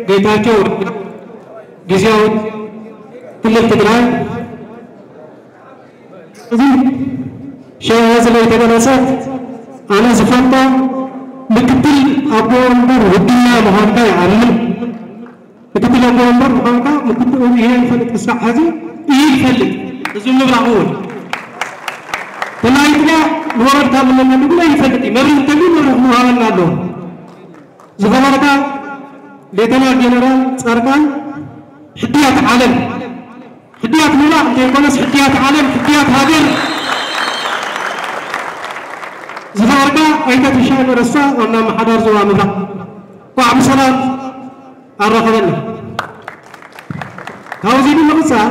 ጌታቸው ጊዜያዊ ክልል ትግራይ እዚ ሸዋ ስለይተገለጸት ኣነ ዝፈልጦ ምክትል ኣቦ ወንበር ውድና ምዃንካ ይኣምን። ምክትል ኣቦ ወንበር ምዃንካ ምክትል ይፈልጥ ክሳዕ ሕዚ ይፈልጥ። እዚ ምብራቕ እውን ተላይትና ንወረድካ ምንነት ግን ኣይፈልጥ እዩ። መብርህ እንተሉ መብርህ ምሃበና ኣለዎ። ዝኸበርካ ሌተና ጀነራል ጻድቃን ሕድያት ዓለም ሕድያት ምብራቕ ዘይኮነስ ሕድያት ዓለም ሕድያት ሃገር ዝኸበርካ ኣይተ ትሻለ ረሳ ዋና ኣመሓዳሪ ዞባ ምብራቕ እንኳዕ ብሰላም ኣረኸበና። ካብዚ ብምቕጻል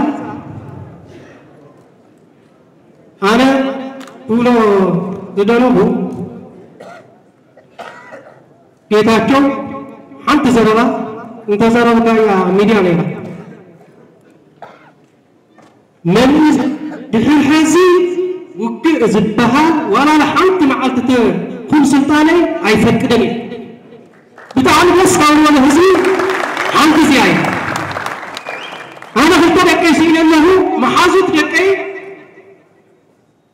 ኣነ ክብሎ ዝደለኹ ጌታቸው ሓንቲ ዘረባ እንተዘረብካያ ሚድያ ነይራ። መሊስ ድሕሪ ሕዚ ውግእ ዝበሃል ዋላ ሓንቲ መዓልቲ ተኹን ስልጣነይ ኣይፈቅድን እዩ። ብጣዕሚ ደስ ካብ ዝበለ ህዝቢ ሓንቲ እዚኣ እዩ። ኣነ ክልተ ደቀይ ስኢነ ኣለኹ። መሓዙት ደቀይ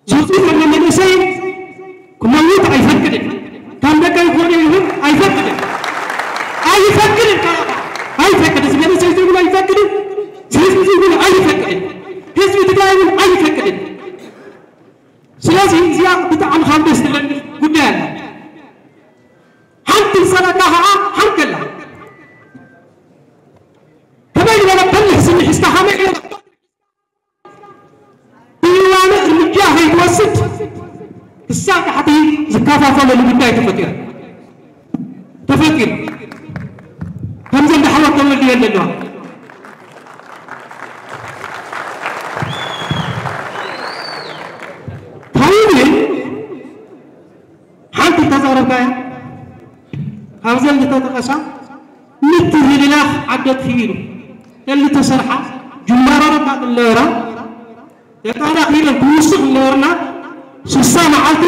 ዝውፅእ ዘሎ መንእሰይ ክመውት ኣይፈቅድን። ከም ደቀይ ክኾነ ይኹን ኣይፈቅድን። ኣይፈቅድን። ኣይፈቅድን። እዚ መንእሰይ ዝብል ኣይፈቅድን። ህዝቢ ዝብል ኣይፈቅድን። ህዝቢ ትግራይ እውን ኣይፈቅድን። ስለዚ እዚኣ ብጣዕሚ ካብ ደስ ትብለኒ ጉዳይ ኣላ። ሓንቲ ዝፀለካ ከዓ ሓንቲ ኣላ። ከመይ ዝበለ በሊሕ ስኒ ሒዝካ ከመይ ዝበለ ብእዋኑ እርምጃ ከይትወስድ ክሳብ ታሕቲ ዝከፋፈለሉ ጉዳይ ተፈጢሩ ተፈጢሩ ከምዘን ዳሕወት ተመልየን ዘለዋ ታይብን ሓንቲ ተዛረብካያ ካብዘን ዝተጠቐሳ ምትህልላኽ ዓደት ክኢሉ እተን ዝተሰርሓ ጅማሮ ረካጥ ነበራ ደቃና ክኢለን ክውስኽ ነበርና ስሳ መዓልቲ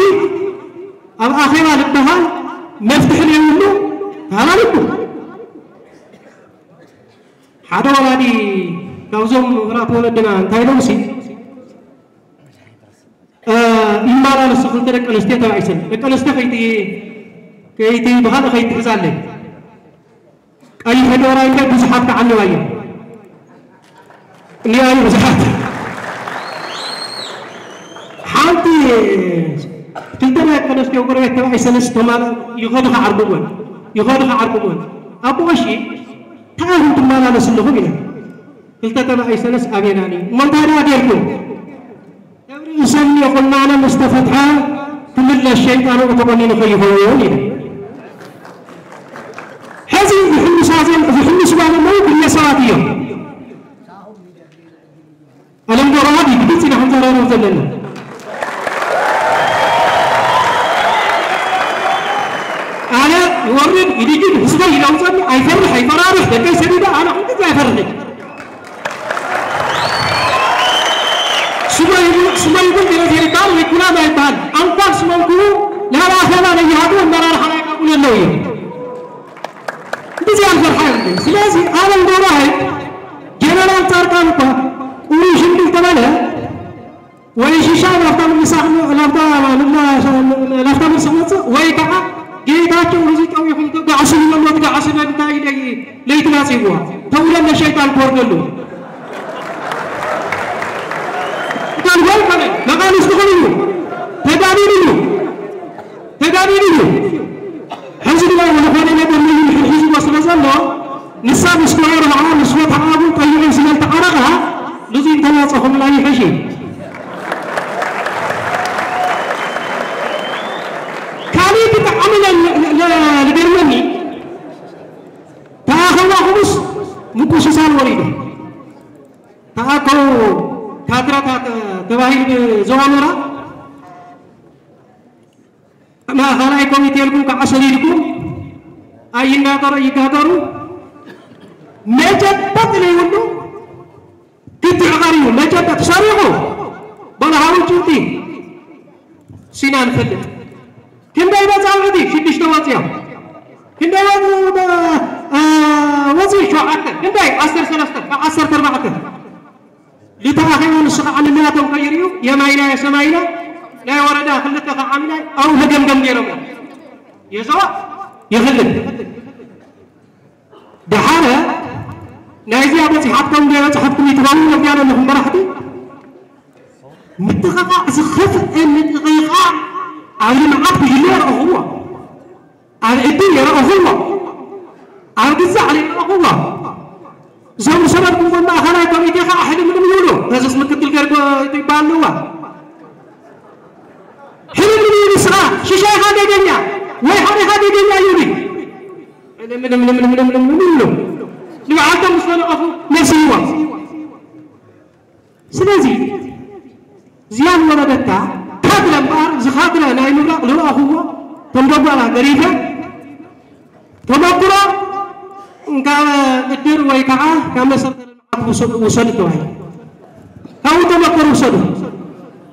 ኣብ ኣኼባ ዝበሃል መፍትሒ ዘይብሉ ተሃላልኩ ሓደ ወላዲ ካብዞም ምሁራት ወለድና እንታይ ኢሎም ሲ ይመላለሱ ክልተ ደቂ ኣንስትዮ ተባኢሰን ደቂ ኣንስትዮ ከይቲ ከይቲ ብኻልእ ከይትሕዛለይ ቀይሕ ዶራይ ከ ብዙሓት ተዓልዋ እዮም እኒኣዩ ብዙሓት ሓንቲ ክልተ ናይ ደቂ ኣንስትዮ ጎረቤት ተባኢሰንስ ተማላ ይኸዱ ከዓርጉወን ይኸዱ ከዓርጉወን ኣቦ ቀሺ እንታይ ኢኹም ትመላለሱ ኣለኹም ኢለን ክልተ ተባኢሰንስ ኣቤናኒ እሞ እንታይ ደኣ ጌርኩም ሰብ ርእሰን የኹናነ ምስ ተፈትሐ ክምለስ ሸይጣን ተቆኒኑ ከይኸውን ኢሉ። ሕዚ ዝሕምሳ ዘን ዝሕምስዋ ዘለዉ ግለሰባት እዮም። ኣለም ገብረዋህድ ብግልፂ ኢና ክንዘራረብ ዘለና። ኣነ ይወርድ ይድጅን ህዝበይ ይለውፀኒ ኣይፈርሕ ኣይፈራርሕ ደቀይ ሰዲደ ኣነ ኩሉ ግዜ ኣይፈርሕ። ስመይ ስመይ ግን ገለቴ ይባል ወይ ኩናማ ይባል ኣንኳን ስመንኩ ናብ ኣኸባ ነይሃዱ ኣመራርሓ ናይ ቀብሉ ኣለዉ እዮም። እንደዚህ ኣልፈርሓ ስለዚህ ኣለም ገብረዋህድ ጀነራል ጻድቃን እኳ ቁሩሽ እንዲል ተባለ ወይ ሽሻ ናፍታ ምልሳኽ ናፍታ ናፍታ ምልስኽ መጽእ ወይ ከዓ ጌታቸው እዚ ጠዊኹም ትጋዕሱ ይበሎ ትጋዕሱ ለምንታይ ኢለ ለይቲ ናጽይዋ ተውለለ ሸይጣን ክወርደሉ ካልጎል ከነ መቃልስ ትኽእል እዩ ተጋቢሉ እዩ ተጋቢሉ እዩ ሕዚ ድማ ዝኾነ ነገር ንሕን ሒዝዎ ስለ ዘሎ ንሳ ምስ ተወርዓ ምስ ወትዓቡ ጠይዑ ስለ ዝተዓረቓ ንዙ እንተላፀኹምላ ይሕሽ እዩ ካሊእ ብጣዕሚ ዝገርመኒ ተኣኸባኹምስ ምቁስሳን ወሪዱ ተኣከቡ ካድረታት ተባሂሉ ብዞባ ምራ ማእኸላይ ኮሚቴ ኢልኩም ከዓ ሰዲድኩም ኣይናገሩ ይጋገሩ መጨበጥ ዘይብሉ ክትዕቐር እዩ መጨበጥ ሰሪቑ በልሃዊ ጭብጢ ሲና ንፈልጥ ክንደይ መፃውዕቲ ሽዱሽተ ወፂኦም ክንደይ ወፂኡ ሸውዓተ እንታይ ዓሰርተ ሰለስተ ካብ ዓሰርተ ኣርባዕተ ልተኣኸቡ ንሱ ከዓ ንላቶም ከይርእዩ የማይና የሰማይና ናይ ወረዳ ክልተ ከዓ ዓሚና ኣብኡ መገምገም ገይሮም እዮም። የዘዋ ይኽልል ደሓረ ናይዚኣ በፂሓትኩም ዶ በፅሓትኩም ይትበሉ ነዚኣ ዘለኹም መራሕቲ ምጥቕቓዕ ዝኸፍአ ምጥቕቓዕ ኣብ ልምዓት ጉጅለ የረእኽዎ ኣብ ዕድል የረእኽዎ ኣብ ግዛዕ የረእኽዎ እዞም ሰባት ምኾን ማእኸላይ ኮሚቴ ከዓ ሕልምልም ይብሉ ነዚስ ምክትል ገርጎ ይበሃል ኣለዋ ሕልምልም ይብሉ ስኻ ሽሻይኻ ደገኛ ወይ ሓሪኻ ደገኛ ይብሉ ሕልምልምልምልምልምልም ይብሉ ንባዕልቶም ምስ ተነቐፉ ነስይዎም ስለዚ ዝያም ወረደታ ካድረ እምበኣር እዚ ካድረ ናይ ምብራቕ ዝረኣኹዎ ከም ደጓላ ገሪፈ ተመክሮ ካብ እድር ወይ ከዓ ካብ መሰረተ ልምዓት ውሰዱ ተባሂሉ ካብኡ ተመክሮ ውሰዱ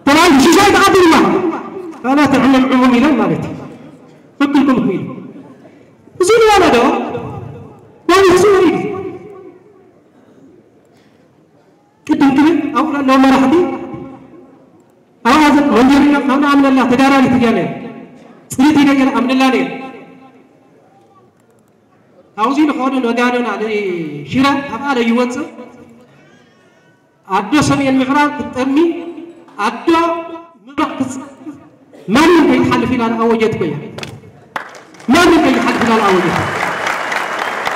ተባሂሉ ሽሻይ ተቐቢልዋ ካላ ትዕምምዕሙም ኢሎም ማለት እዩ ክክልኩም ኢሉ እዚ ዝወረዶ በብህዝቡ እዩ ቅድም ክብል ኣብኡ ለለዉ መራሕቲ ኣብኣ መንጀሪና ካብ ንኣምነላ ተጋዳሊት እያ ነይራ ፅሪት ኢለ ገለ ኣምነላ ነይራ ካብዚ ንኸዱ ነጋዶና ንሽረ ካብኣ ለይወፅእ ኣዶ ሰሜን ምዕራብ ክትጠሚ ኣዶ ምብራቕ ክትፀ ማንም ከይትሓልፍ ኢላ ንኣወጀት እኮ እያ ማንም ከይትሓልፍ ኢላ ንኣወጀት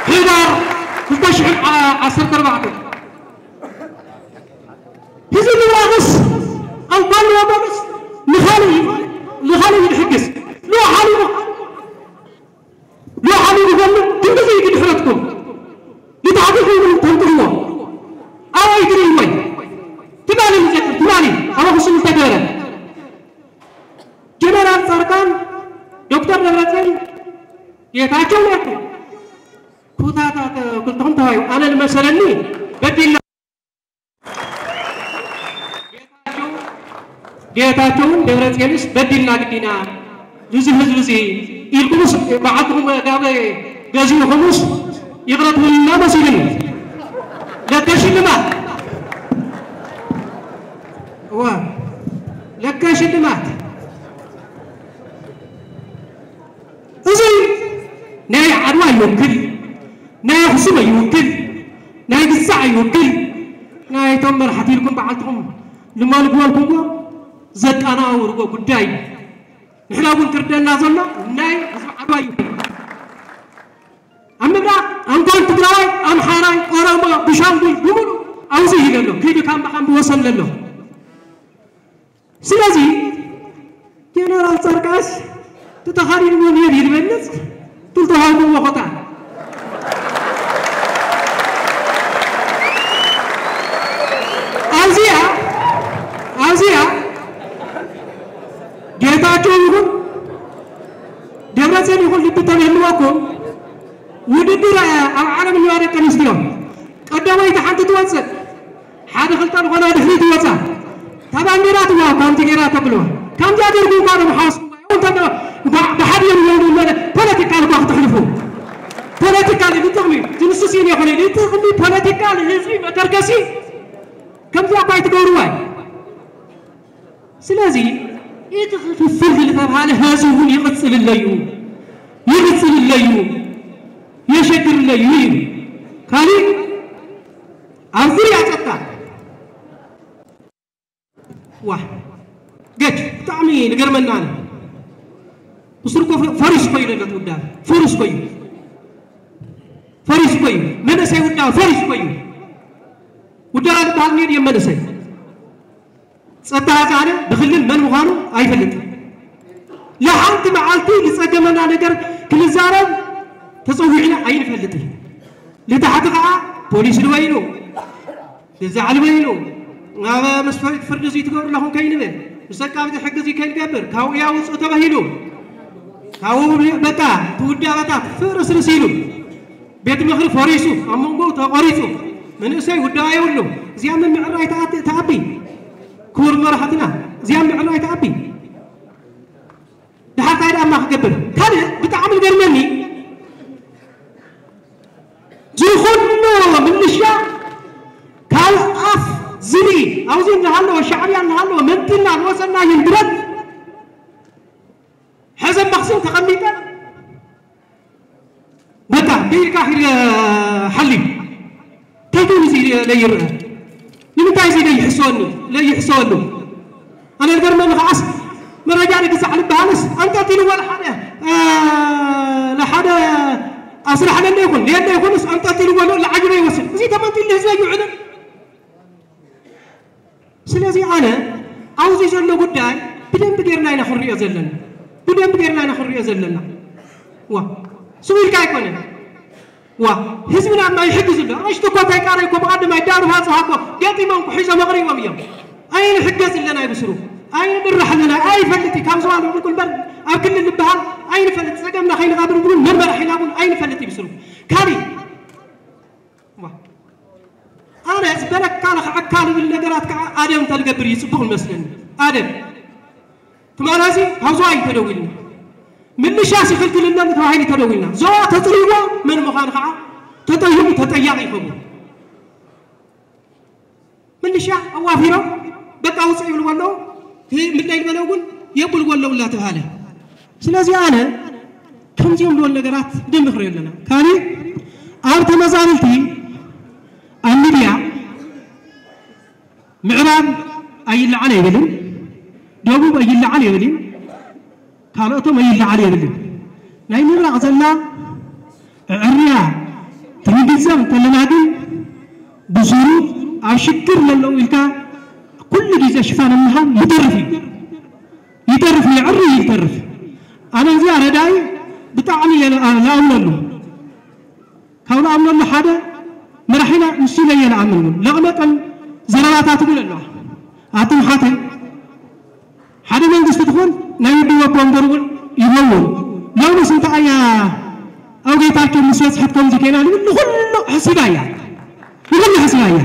ሕዳር ክልተ ሽሕን ዓሰርተ ኣርባዕተ ህዝቢ ምብራቕስ ኣብ ጓኒ ወገንስ ንኻልእ ንኻልእ ይድሕግስ ሎ ሓሊፉ ሎ ሓሊፉ ጓኒ ክንድዚ እዩ ድሕረትኩም ንታሕቲ ኮይኑ ተንጥልዎ ኣበይ ትርእይዎ ትማሊ ንዘክር ትማሊ ኣብ ኣኽሱም ዝተገበረ ጀነራል ፃድቃን ዶክተር ደብረፅዮን ጌታቸው ነርኩም ኩታታት ክልተኹም ተባዩ ኣነ ዝመሰለኒ በዲልና ጌታቸውን ደብረፅዮንስ በዲልና ግዲና እዚ ህዝቢ እዚ ኢልኩምስ በዓልትኹም ጋበ ገዚእኹምስ ይቕረ ትብሉና መሲሉኒ ለከ ሽልማት እዋ ለከ ሽልማት እዚ ናይ ዓድዋ ይወክል ናይ ኣኽሱም ኣይውክል ናይ ግዛዕ ኣይውክል ናይቶም መራሕቲ ኢልኩም በዓልትኹም ልማሉ ግበልኩምዎ ዘጣናውርዎ ጉዳይ እዩ ንሕና እውን ክርደና ዘሎ ናይ ህዝቢ ዓድዋ እዩ ኣብ ምብራቕ ኣንኳን ትግራዋይ ኣምሓራይ ኦሮሞ ብሻንጉል ብምሉ ኣብዚ እዩ ዘሎ ከይዱ ካምባኻም ብወሰን ዘሎ ስለዚ ጀነራል ጸርቃስ ተተኻሪድዎ ነይሩ ይልበልጽ ትልተሃውሞ ወኸታ ኣብዚኣ ኣብዚኣ ጌታቸው ይኹን ደብረፅዮን ይኹን ልቢ ተምህልወኩም ውድድር ኣብ ዓለም እኒዋ ደቂ ኣንስትዮ ቀዳመይቲ ሓንቲ ትወፅእ ሓደ ክልተ ዝኾና ድሕሪት ይወፃ እታ ባንዴራ ትዋ ከምቲ ጌራ ተብልዋ ከምዚ ኣደርጉ እኳ ዶ ምሓወስ ብሓድዮም ይነብሩ ፖለቲካል እኳ ክትሕልፉ ፖለቲካል ንጥቕሚ ዝንስሲን ይኹን ንጥቕሚ ፖለቲካል ህዝቢ መተርከሲ ከምዚ ኣኳ ኣይትገብርዋ እዩ ስለዚ እቲ ክፍፍል ዝተባሃለ ህዝቢ እውን ይቕፅልለዩ ይቕፅልለዩ የሸግርለዩ እዩ ካሊእ ኣብ ዙርያ ፀጥታ ዋ ገድ ብጣዕሚ ንገርመና ኣነ ምስር እኮ ፈሪስ እኮ እዩ ለለት ውዳብ ፈሪስ እኮ እዩ ፈሪስ እኮ እዩ መንእሰይ ውዳብ ፈሪስ እኮ እዩ ውዳብ ዝበሃል ኔድ እዮም መንእሰይ ጸጥታ ኣጻዕደ ብክልል መን ምዃኑ ኣይፈልጥን። ለሓንቲ መዓልቲ ዝጸገመና ነገር ክንዛረብ ተጸዊዕና ኣይንፈልጥን። ልታሕቲ ከዓ ፖሊስ ልበይኑ፣ ልዛዕ ልበይኑ፣ ናብ መስፈሪት ፍርዲ እዚ ትገብሩ ኣለኹም ከይንብል፣ ምስ ኣቃብቲ ሕጊ እዚ ከይንገብር፣ ካብኡ ያውፅኡ ተባሂሉ፣ ካብኡ በቃ ትውዳበታት ፍርስርስ ኢሉ። ቤት ምኽሪ ፈሪሱ፣ ኣብ መንጎኡ ተቖሪጹ፣ መንእሰይ ውዳባ የብሉ። እዚኣ ምምዕራይ ትኣቢ፣ ክቡር መራሕትና፣ እዚኣ ምምዕራይ ትኣቢ። ድሓር ታይ ደኣ ክገብር? ካልእ ብጣዕሚ ዝገርመኒ፣ ዝኹ ሻዕብያ እናሃለወ መምትና ዝወሰናዮ ብረት ሕዘ መኽስን ተቐሚጠ በቃ ብኢድካ ኺድ ሓሊ ተይኮን እዚ ለይርአ ንምንታይ እዚ ለይሕሰወኒ ለይሕሰወሉ ኣነ ዝገርመኒ ከዓስ መረጃ ንግዛዕ ልበሃልስ ኣንጠልጢልዎ ለሓደ ለሓደ ኣስራሕለለ ይኹን የለ ይኹንስ ኣንጠልጢልዎ ለዓጅበ ይወስድ እዚ ተመንጢሉ ህዝበ ይውዕልን ስለዚ ኣነ ኣብዚ ዘሎ ጉዳይ ብደንብ ጌርና ኢና ክንሪኦ ዘለና ብደንብ ጌርና ኢና ክንሪኦ ዘለና ዋ ስው ኢልካ ኣይኮነን ዋ ህዝብና ማ ይሕግዝ ኣሎ ኣሽቱ እኮ እንታይ ቃረ እኮ ብቐደማይ ዳሩ ሃፅሃ እኮ ገጢሞም እኮ ሒዞም ኣቕሪቦም እዮም ኣይንሕገዝ ኣለና ይብስሩ ኣይንምራሕ ኣለና ኣይፈልጥ እዩ ካብ ዝባሉ ምቁል በር ኣብ ክልል ዝበሃል ኣይንፈልጥ ፀገምና ከይንቐብር ብሉን መመራሕ ኢናቡን ኣይንፈልጥ ይብስሩ ካሊእ ኣነ ዝበለካ ንኽዓካ ልብል ነገራት ከዓ ኣደብ እንተልገብር እዩ ፅቡቕ ይመስለኒ ኣደብ ትማል እዚ ካብ ዞባ እዩ ተደዊልና ምልሻ ሲኽልክልና ተባሂሉ ተደዊልና ዞባ ተፅሪዎ መን ምዃኑ ከዓ ተጠይቑ ተጠያቂ ይኸውን ምልሻ ኣዋፊሮም በቃ ውፅእ ይብልዎ ኣለዉ ምለይ ዝበለ እውን የብልዎ ኣለዉ እናተባሃለ ስለዚ ኣነ ከምዚኦም ዝበሉ ነገራት ደንቢ ክሪኦ ኣለና ካሊእ ኣብ ተመዛበልቲ ኣብ ሚድያ ምዕራብ ኣይለዓል ኣይብልን ደቡብ ኣይለዓል ይብል እዩ ካልኦቶም ኣይለዓል የብልን ናይ ምብራቕ ዘላ ዕርያ ትንግዘም ተለና ግን ብስሩ ኣብ ሽግር ለለዉ ኢልካ ኩሉ ግዜ ሽፋን ምሃብ ይተርፍ እዩ ይተርፍ ይዕሪ ይተርፍ ኣነ እዚኣ ረዳኢ ብጣዕሚ እየ ለኣምነሉ ካብ ለኣምነሉ ሓደ መራሒና ንሱ ኢለ እየ ለኣምን እውን ለቕመጠን ዘረባታት እውን ኣለዋ ኣቱም ሓተ ሓደ መንግስቲ ትኾን ናይ ውድብ ኣቦ ወንበር እውን ይኸውን ሎምስ እንታይ እያ ኣብ ጌታቸው ምስ በፅሐት ከምዚ ከይና ንብል ንኩሉ ሕሲባ እያ ንኩሉ ሕሲባ እያ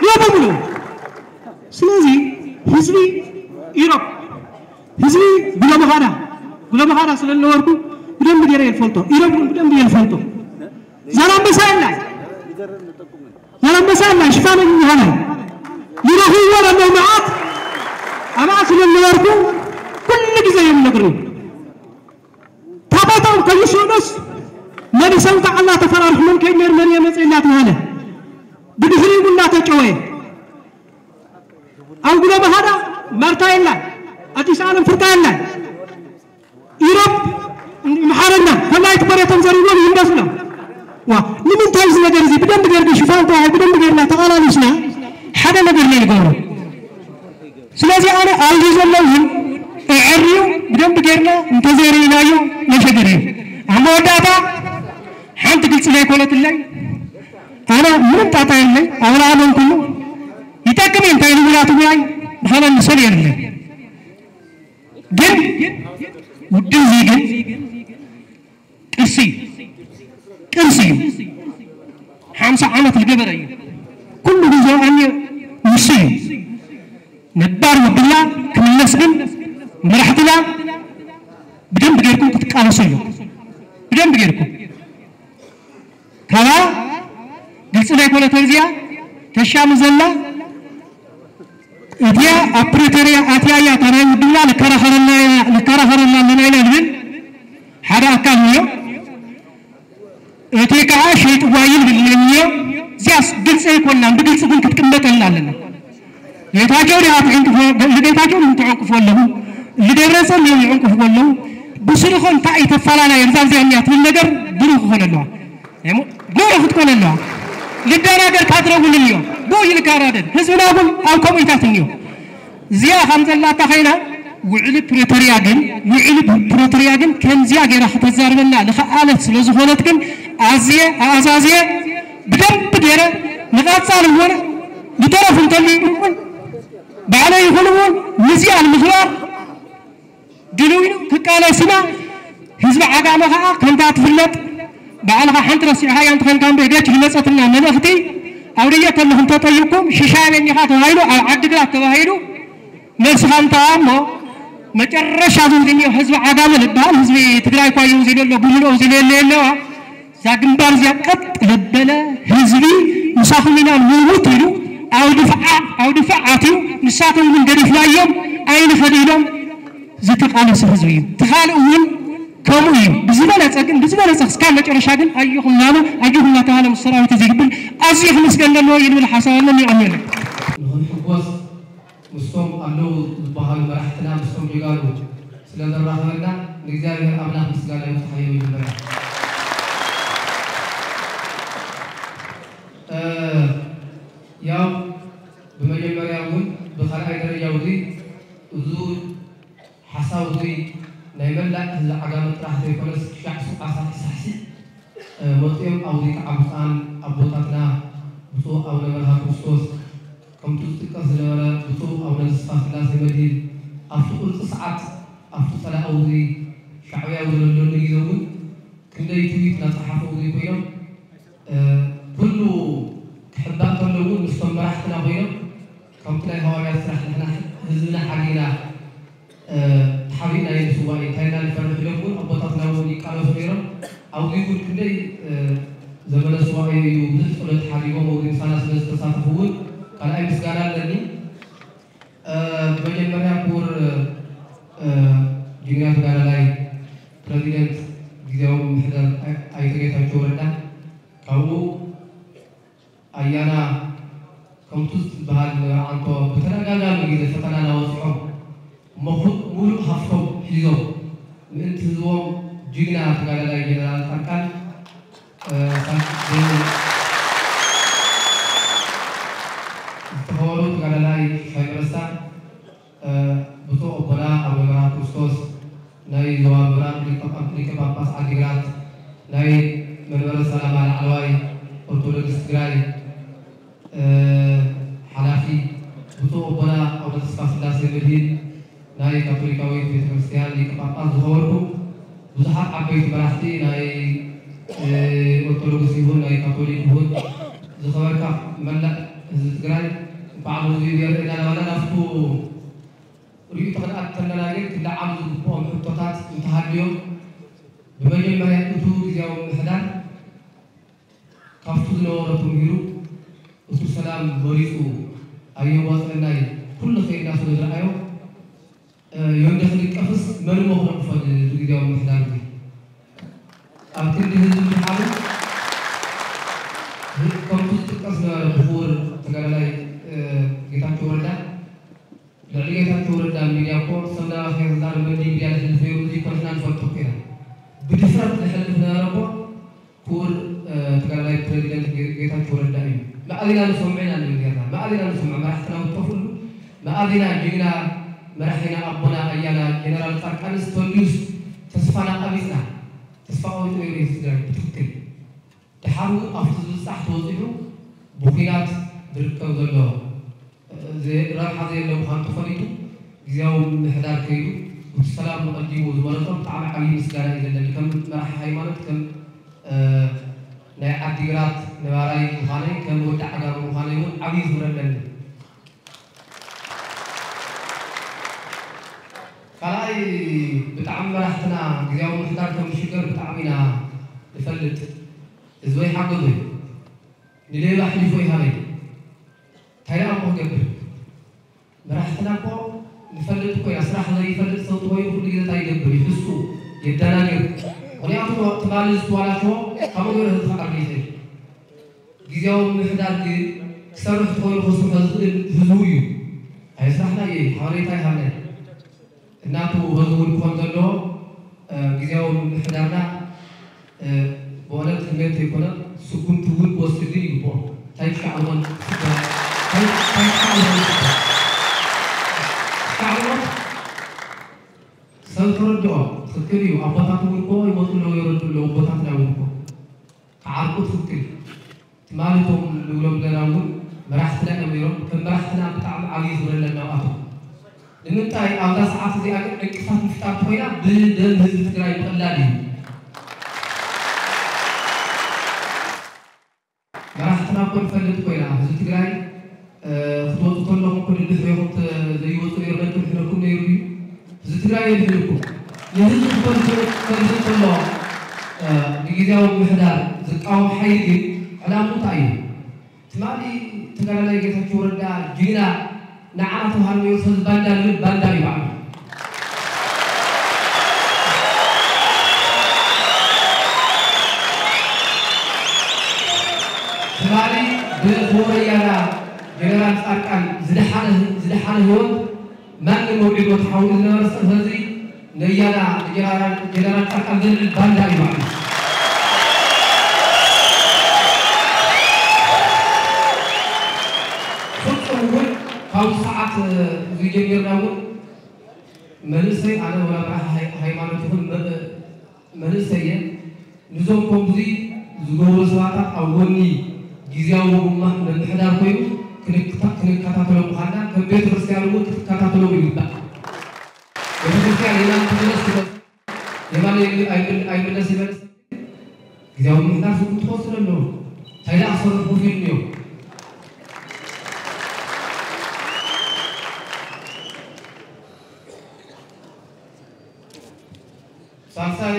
ይበምሉ ስለዚ ህዝቢ ኢሮብ ህዝቢ ጉለመኻዳ ጉለመኻዳ ስለ ዝነበርኩ ብደንብ ገይረ የልፈልጦ ኢሮብ እውን ብደንብ የልፈልጦ ዛላምበሳ የላይ ዛላምበሳ የላይ ሽፋነኝ ይሆናል ይረኽብዎ ለለው መዓት ኣባኣ ስለ ዝነበርኩ ኩሉ ግዜ እዮም ነግርኒ ታቦታም ከይስእኑስ መሊሶም ከዓ እናተፈራርሑ መን ከይድ ነር መን የመፅእ እናተባሃለ ብድሕሪኡ እናተጨወየ ኣብ ጉሎ ባህዳ ማርታ የላ ኣዲስ ዓለም ፍርታ የላ ኢሮብ ምሓረና ፈላይ ትኮረቶም ዘሪቦም ይንደፍሎም ዋ ንምንታይ እዚ ነገር እዚ ብደንብ ገርጊ ሽፋን ተዋሂ ብደንብ ገርና ተቃላሊስና ሓደ ነገር ናይ ንገብሮ ስለዚ ኣነ ኣብዚ ዘሎ እውን እዕርዩ ብደንብ ገርና እንተዘይርኢናዮ መሸገር እዩ ኣብ መወዳእታ ሓንቲ ግልፂ ዘይኮነትለይ ኣነ ምንም ጣጣ የለይ ኣውራሎም ኩሉ ይጠቅም እንታይ ንብላቱ ጉዳይ ብኸመ ንሰል የለ ግን ውድብ እዚ ግን ቅርሲ እዩ ቅርሲ እዩ ሓምሳ ዓመት ዝገበረ እዩ ኩሉ ግዜ ኣኒ ንሱ እዩ ነባር ውድብና ክምለስ ግን መራሕትና ብደንብ ጌርኩም ክትቃለሱ ኣለኩም ብደንብ ጌርኩም ካባ ግልፂ ናይ ኮነተር እዚኣ ተሻሚ ዘላ እቲያ ኣብ ፕሪቶርያ ኣትያ እያ እታ ናይ ውድብና ንከራኸረላ ኢና ንከራኸረላ ኣለና ኢና ንብል ሓደ ኣካል እዮ እቲ ከዓ ሸይጥዋ ይብል እዮ እዚያስ ግልፂ ኣይኮንናን ብግልፂ ግን ክትቅመጠልና ኣለና ጌታቸው ድኣ ትዕንቅፎ ንጌታቸው ንትዕንቅፎ ኣለኹ ንደብረፅን እዮም ይዕንቅፍዎ ኣለዉ ብስርኾ እንታይ እዩ ተፈላለየ እዛ እዚኣ እኒያ ትብል ነገር ብሩህ ክኾነ ኣለዋ ጉዕ ክትኮነ ኣለዋ ልደናገር ካድረ እውን እኒኦ ብኡ ይልካራደድ ህዝብና እውን ኣብ ከምኡታት እኒኦ እዚኣ ከም ዘላታ ኸይና ውዕሊ ፕሪቶርያ ግን ውዕሊ ፕሪቶርያ ግን ከምዚኣ ገይራ ከተዛርበና ዝኸኣለት ስለ ዝኾነት ግን ኣዝየ ኣኣዛዝየ ብደንብ ገይረ ንቐፃል እውን ዝተረፉ እንተልዩ እውን ባዕለይ ይኹን እውን ንዚኣ ንምኽባር ድልው ኢሉ ክቃለስ ኢና ህዝቢ ዓጋመ ከዓ ከምታ ትፍለጥ ባዕልኻ ሓንቲ ረሲዕኻያ እንተኾንካ እምበር ገች ዝመፀትና መልእኽቲ ኣብ ደየ ተለኹም ተጠይቅኩም ሽሻይ በኒኻ ተባሂሉ ኣብ ዓዲግራት ተባሂሉ መልስኻ እንተኣ እሞ መጨረሻ ዝንግንዮ ህዝቢ ዓጋመ ዝበሃል ህዝቢ ትግራይ እኳ እዩ እዚ ዘሎ ብምልኦ እዚ ለየለ የለዋ እዛ ግንባር እዚኣ ቀጥ ለበለ ህዝቢ ምሳኹም ኢና ንሙት ኢሉ ኣብ ድፍዓ ኣብ ድፋዕ ኣትዩ፣ ንሳቶም ግን ገዲፍናዮም ኣይንኸድ ኢሎም ዝተቃለሱ ህዝቢ እዩ። እቲ ካልእ እውን ከምኡ እዩ። ብዝበለፀ ግን ብዝበለፀ እስካብ መጨረሻ ግን ኣጆኹም እናበሉ ኣጆኹም እናተባሃለ ምስ ሰራዊት እዚ ክብል ኣዝዩ ክምስገን ዘለዎ እዩ ዝብል ሓሳብ ኣለኒ። ኣሜን። ንኽንሕጎስ ምስቶም ኣለዉ ዝበሃሉ መራሕትና፣ ምስቶም ጀጋኑ ስለ ዘራኸበና ንእግዚኣብሔር ኣምላኽ ምስጋና ይብጽሓዮ። መጀመርያ እ፣ ያው ብመጀመርያ እውን ብኻልኣይ ደረጃ ውዙይ እዙ ሓሳብ ውዙይ ናይ መላእ ህዝቢ ዓጋመ ጥራሕ ዘይኮነስ ሻዕ ሱቃሳት ሳሕሲዕ እ፣ መጺኦም ኣብ ውዚት ዓብፃን ኣቦታትና ብፁዕ ኣቡነ በርሃ ክርስቶስ ከምቱ ዝጥቀስ ዝነበረ ብፁዕ ኣቡነ ተስፋ ስላሴ መድሂን ኣብቲ ቁርፂ ሰዓት ኣብቲ ፀላኢ ውዚ ሻዕብያ ዘለለሉ ግዜ እውን ክንደይ ትዊት እናፀሓፉ ውዚ ኮይኖም እ፣ ኩሉ ክሕባእ ከሎ እውን ምስቶም መራሕትና ኮይኖም ከምቲ ናይ ሃዋርያት ስራሕ ንሕና ህዝብና ሓዲና ተሓቢእና እዩ ንስዋእ እዩ፣ እንታይ ኢና ንፈርሕ ኢሎም እውን ኣቦታትና እውን ይቃለሱ ነይሮም። ኣብዚ እውን ክንደይ ዘመነ ስዋእ እዩ፣ ብዙሕ ጸሎት ሓዲጎም ኣብዚ ምሳና ስለ ዝተሳተፉ እውን ካልኣይ ምስጋና ኣለኒ። ብመጀመርያ ክቡር ጅግና ተጋዳላይ ፕረዚደንት ግዝያዊ ምምሕዳር ኣይተ ጌታቸው ረዳ ካብኡ ኣያና ከምቱ ዝበሃል ነበረ ዓንቶ ብተደጋጋሚ ግዜ ፈተና እናወፅዖም እሞ ኩ- ሙሉእ ሃፍቶም ሒዞም ምእንቲ ህዝቦም ጅግና ተጋዳላይ ጀነራል ፃድቃን እ፣ ሳልሳይ ዝተኸበሩ ተጋዳላይ ሽሻይ መረሳ ብፁዕ ኣቦና ኣቡነ በርሃ ክርስቶስ ናይ ዞባ ምብራቕ ሊቀ ጳጳስ ዓዲግራት ናይ መንበረ ሰላማ ላዕለዋይ ኦርቶዶክስ ትግራይ ሓላፊ ብፁዕ ኣቦና ኣቡነ ተስፋ ስላሴ መድሂን ናይ ካቶሊካዊት ቤተክርስትያን ሊቀ ጳጳስ ዝኸበርኩም ብዙሓት ዓበይቲ መራሕቲ ናይ ኦርቶዶክስ ይኹን ናይ ካቶሊክ ይኹን ዝኸበርካ መላእ ህዝቢ ትግራይ እንኳዕ ኣብዚ የርእየና ለባና ናብቱ ርእዩ ተኽልኣት ተለና ግን ክለዓሉ ዝግብኦም ሕቶታት እንተሃልዮም ብመጀመርያ እቱ ግዜያዊ ምምሕዳር ካብቱ ዝነበሮ ተምሂሩ እቱ ሰላም መሪፁ ኣየዋፅአናይ ኩሉ ኸይድና ስለ ዝረኣዮ ዮንደ ክንቀፍስ መን እሞ ክነቅፎ እዚ ግዜያዊ ምምሕዳር እዚ ኣብ ክንዲ ህዝቢ ምድሓኑ ከምቱ ዝጥቀስ ነበረ ብኽቡር ተጋዳላይ ጌታቸው ረዳ ልዕሊ ጌታቸው ረዳ ሚድያ እኮ ሰብ ናባኻ ክዛረብ መንዲ ሚድያ ዝሕልፍ ነይሩ እዚ እኮ ንሕና ንፈልጦ እኮ ኢና ብድፍረት ዝሕልፍ ነበረ እኮ ክቡር ተጋዳላይ ፕረዚደንት ጌታቸው ረዳ እዩ። መኣዝ ኢና ንሰምዖ ኢና ንብል ጌርና፣ መኣዝ ኢና ንሰምዖ መራሕትና ዝጠፍእሉ፣ መኣዝ ኢና ጅግና መራሒና ኣቦና ኣያና ጀነራል ፃድቃንስ ተልዩስ ተስፋና ቀቢፅና፣ ተስፋ ቆሪፁ ነይሩ ህዝቢ ትግራይ ብትክክል። ደሓር እውን ኣብቲ ዝብፃሕ ተወፂሑ ብኲናት ዝርከብ ዘሎ ረብሓ ዘየለ ምዃኑ ተፈሊጡ ግዝያዊ ምምሕዳር ከይዱ እቲ ሰላም ንቐዲሙ ዝመረፆ ብጣዕሚ ዓብዪ ምስጋና እዩ ዘለኒ። ከም መራሒ ሃይማኖት፣ ከም ናይ ዓዲግራት ነባራይ ምዃነይ፣ ከም ወዲ ዓጋመ ምዃነይ እውን ዓብዪ ክብሪ ኣለኒ። ካልኣይ ብጣዕሚ መራሕትና ግዝያዊ ምምሕዳር ከም ዝሽገር ብጣዕሚ ኢና ንፈልጥ። ህዝበይ ሓገዙ እዩ። ንሌባ ሕሊፎ ይሃበይ። እንታይ ደኣ እሞ ክገብር? መራሕትና እኮ ንፈልጥ እኮ ኢና። ስራሕ ዘይፈልጥ ሰብ ተኾይኑ ኩሉ ግዜ እንታይ ይገብር? ይሕሱ፣ የደናግር። ምኽንያቱ ትማሊ ዝተዋላሸዎ ካብኡ ገይሩ ህዝቢ ክዓቢ ይኽእል። ግዝያዊ ምምሕዳር ግን ክሰርሕ ተኾይኑ ከስርሖ ዝኽእል ህዝቡ እዩ። ኣየስራሕና እየ፣ ሓበሬታ ይሃብና። እናቱ ህዝቡ እውን ክኾን ዘለዎ ግዜያዊ ምምሕዳርና ብእውነት ህሜት ዘይኮነ ስጉምቲ እውን ክወስድ ግን ይግብኦ። እንታይ ክሻዕ ዝኾን ስጋ እንታይ እንታይ ክሻዕ ዝኾን ስጋ ክሻዕ ዝኾን ሰብ ተረድኦ ትኽክል እዩ። ኣቦታት እውን እኮ ይመፁ ኣለዉ የረዱ ኣለዉ ኣቦታትና እውን እኮ ክዓርቁ ትኽክል እዩ። ትማሊ እቶም ንብሎም ዘለና እውን መራሕትና እዮም ነይሮም። ከም መራሕትና ብጣዕሚ ዓብዪ ክብሪ ኣለና ኣብኣቶም። ንምንታይ ኣብዛ ሰዓት እዚኣ ግን ዕንቅፋት ምፍጣር ተኾይና ብደም ህዝቢ ትግራይ ምቕላድ እዩ። መራሕትና እኮ ንፈልጥ ኮይና ህዝቢ ትግራይ ክትወፁ ከለኹም እኮ ድድሕሪኹም ዘይወፁ ነይሩ ነንቅድሕረኩም ነይሩ እዩ። ህዝቢ ትግራይ የድሕነኩም። ንህዝቢ ክፈልጥ ከሎ ንግዜያዊ ምምሕዳር ዝቃወም ሓይሊ ግን ዕላምኡ እንታይ እዩ? ትማሊ ተጋዳላይ ጌታቸው ረዳ ጅግና ንዓና ተባሃሉ ነይሩ፣ ሰዚ ባንዳ ዝብል ባንዳ እዩ ባዕሉ። ትማሊ ብክቡር ኣያና ጀነራል ጻድቃን ዝደሓነ፣ ዝደሓነ ህይወት ማንም መውዒሉ ተሓውሉ ዝነበረ ሰብ፣ ሕዚ ነያና ጀነራል፣ ጀነራል ጻድቃን ዘልዕል ባንዳ እዩ ባዕሉ። ፍጹም እውን ካብዚ ሰዓት እዚ ጀሚርና እውን መንእሰይ፣ ኣነ ወላ በዓል ሃይ-፣ ሃይማኖት ይኹን መ-፣ መንእሰይ እየ። ንዞም ከምዚ ዝገብሩ ሰባታት ኣብ ጎኒ ግዝያዊ ምምሕዳር ኮይኑ ክንክታ-፣ ክንከታተሎም ምዃንና ከም ቤተ ክርስቲያን እውን ክትከታተሎም ይግባእ። ቤተ ክርስቲያን የማን ትመለስ ትመለስ፣ የማን ኣይምል-፣ ኣይምል-፣ ኣይምለስ ይመለስ፣ ግዝያዊ ምምሕዳር ስጉምቲ ክወስድ ኣለዎ። እንታይ ደኣ ክሰርሑ ክኢሉ እዮም። ሳልሳይ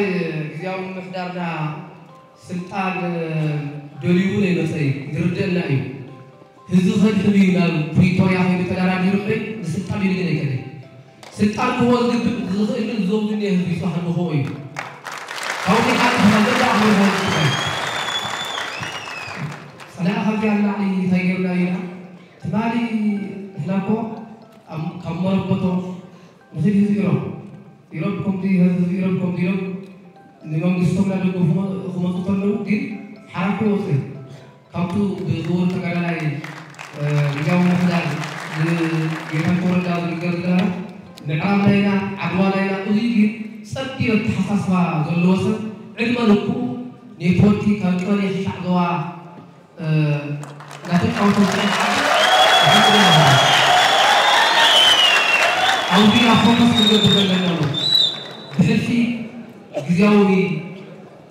ግዝያዊ ምምሕዳርና ስልጣን ደልዩ እውን ኣይመጸ እዩ፣ ይርደአና እዩ። ህዝቢ ከድሕን እዩ ናብ ፕሪቶርያ ከይዱ ተደራዲሩ እምበይ ንስልጣን ኢሉ ግን ኣይከደን። ስልጣን ክህቦ ዝግብ-፣ ዝኽእል ግን እዞም ዝኒሀ ህዝቢ ይስራሕ ንኽኦ እዩ። ካብኡ ከኣ ተመዘጋ ኣኽብር ማለት ይችላል። ጸላኢ ካብዚኣ ንላዕሊ እንታይ ጌርና ኢና? ትማሊ ንሕና እኮ ኣብ፣ ካብ መረበቶም ንኽድ ህዝቢ ኢሮብ፣ ኢሮብ ከምዚ፣ ህዝቢ ኢሮብ ከምዚ ኢሎም ንመንግስቶም እናደገፉ ክመ-፣ ክመፁ ከለዉ ግን ሓራኩ ይወፅእ። ካብቱ ብክቡር ተጋዳላይ፣ እ፣ ግዝያዊ ምምሕዳር ጌታቸው ረዳ ዝንገር ዝነበረ ምዕራብ ናይና፣ ዓድዋ ናይና፣ እዙይ ግን ጸቢብ ኣተሓሳስባ ዘለዎ ሰብ ዕድመ ልክኡ ኔትወርክ ካብ ቀበሌ ክሻዕ ዞባ፣ እ፣ እናተጫወተ ዝጸንሐ ኣብዚ ኢና ፎከስ ክንገብር ዘለና። ብሕልፊ ግዝያዊ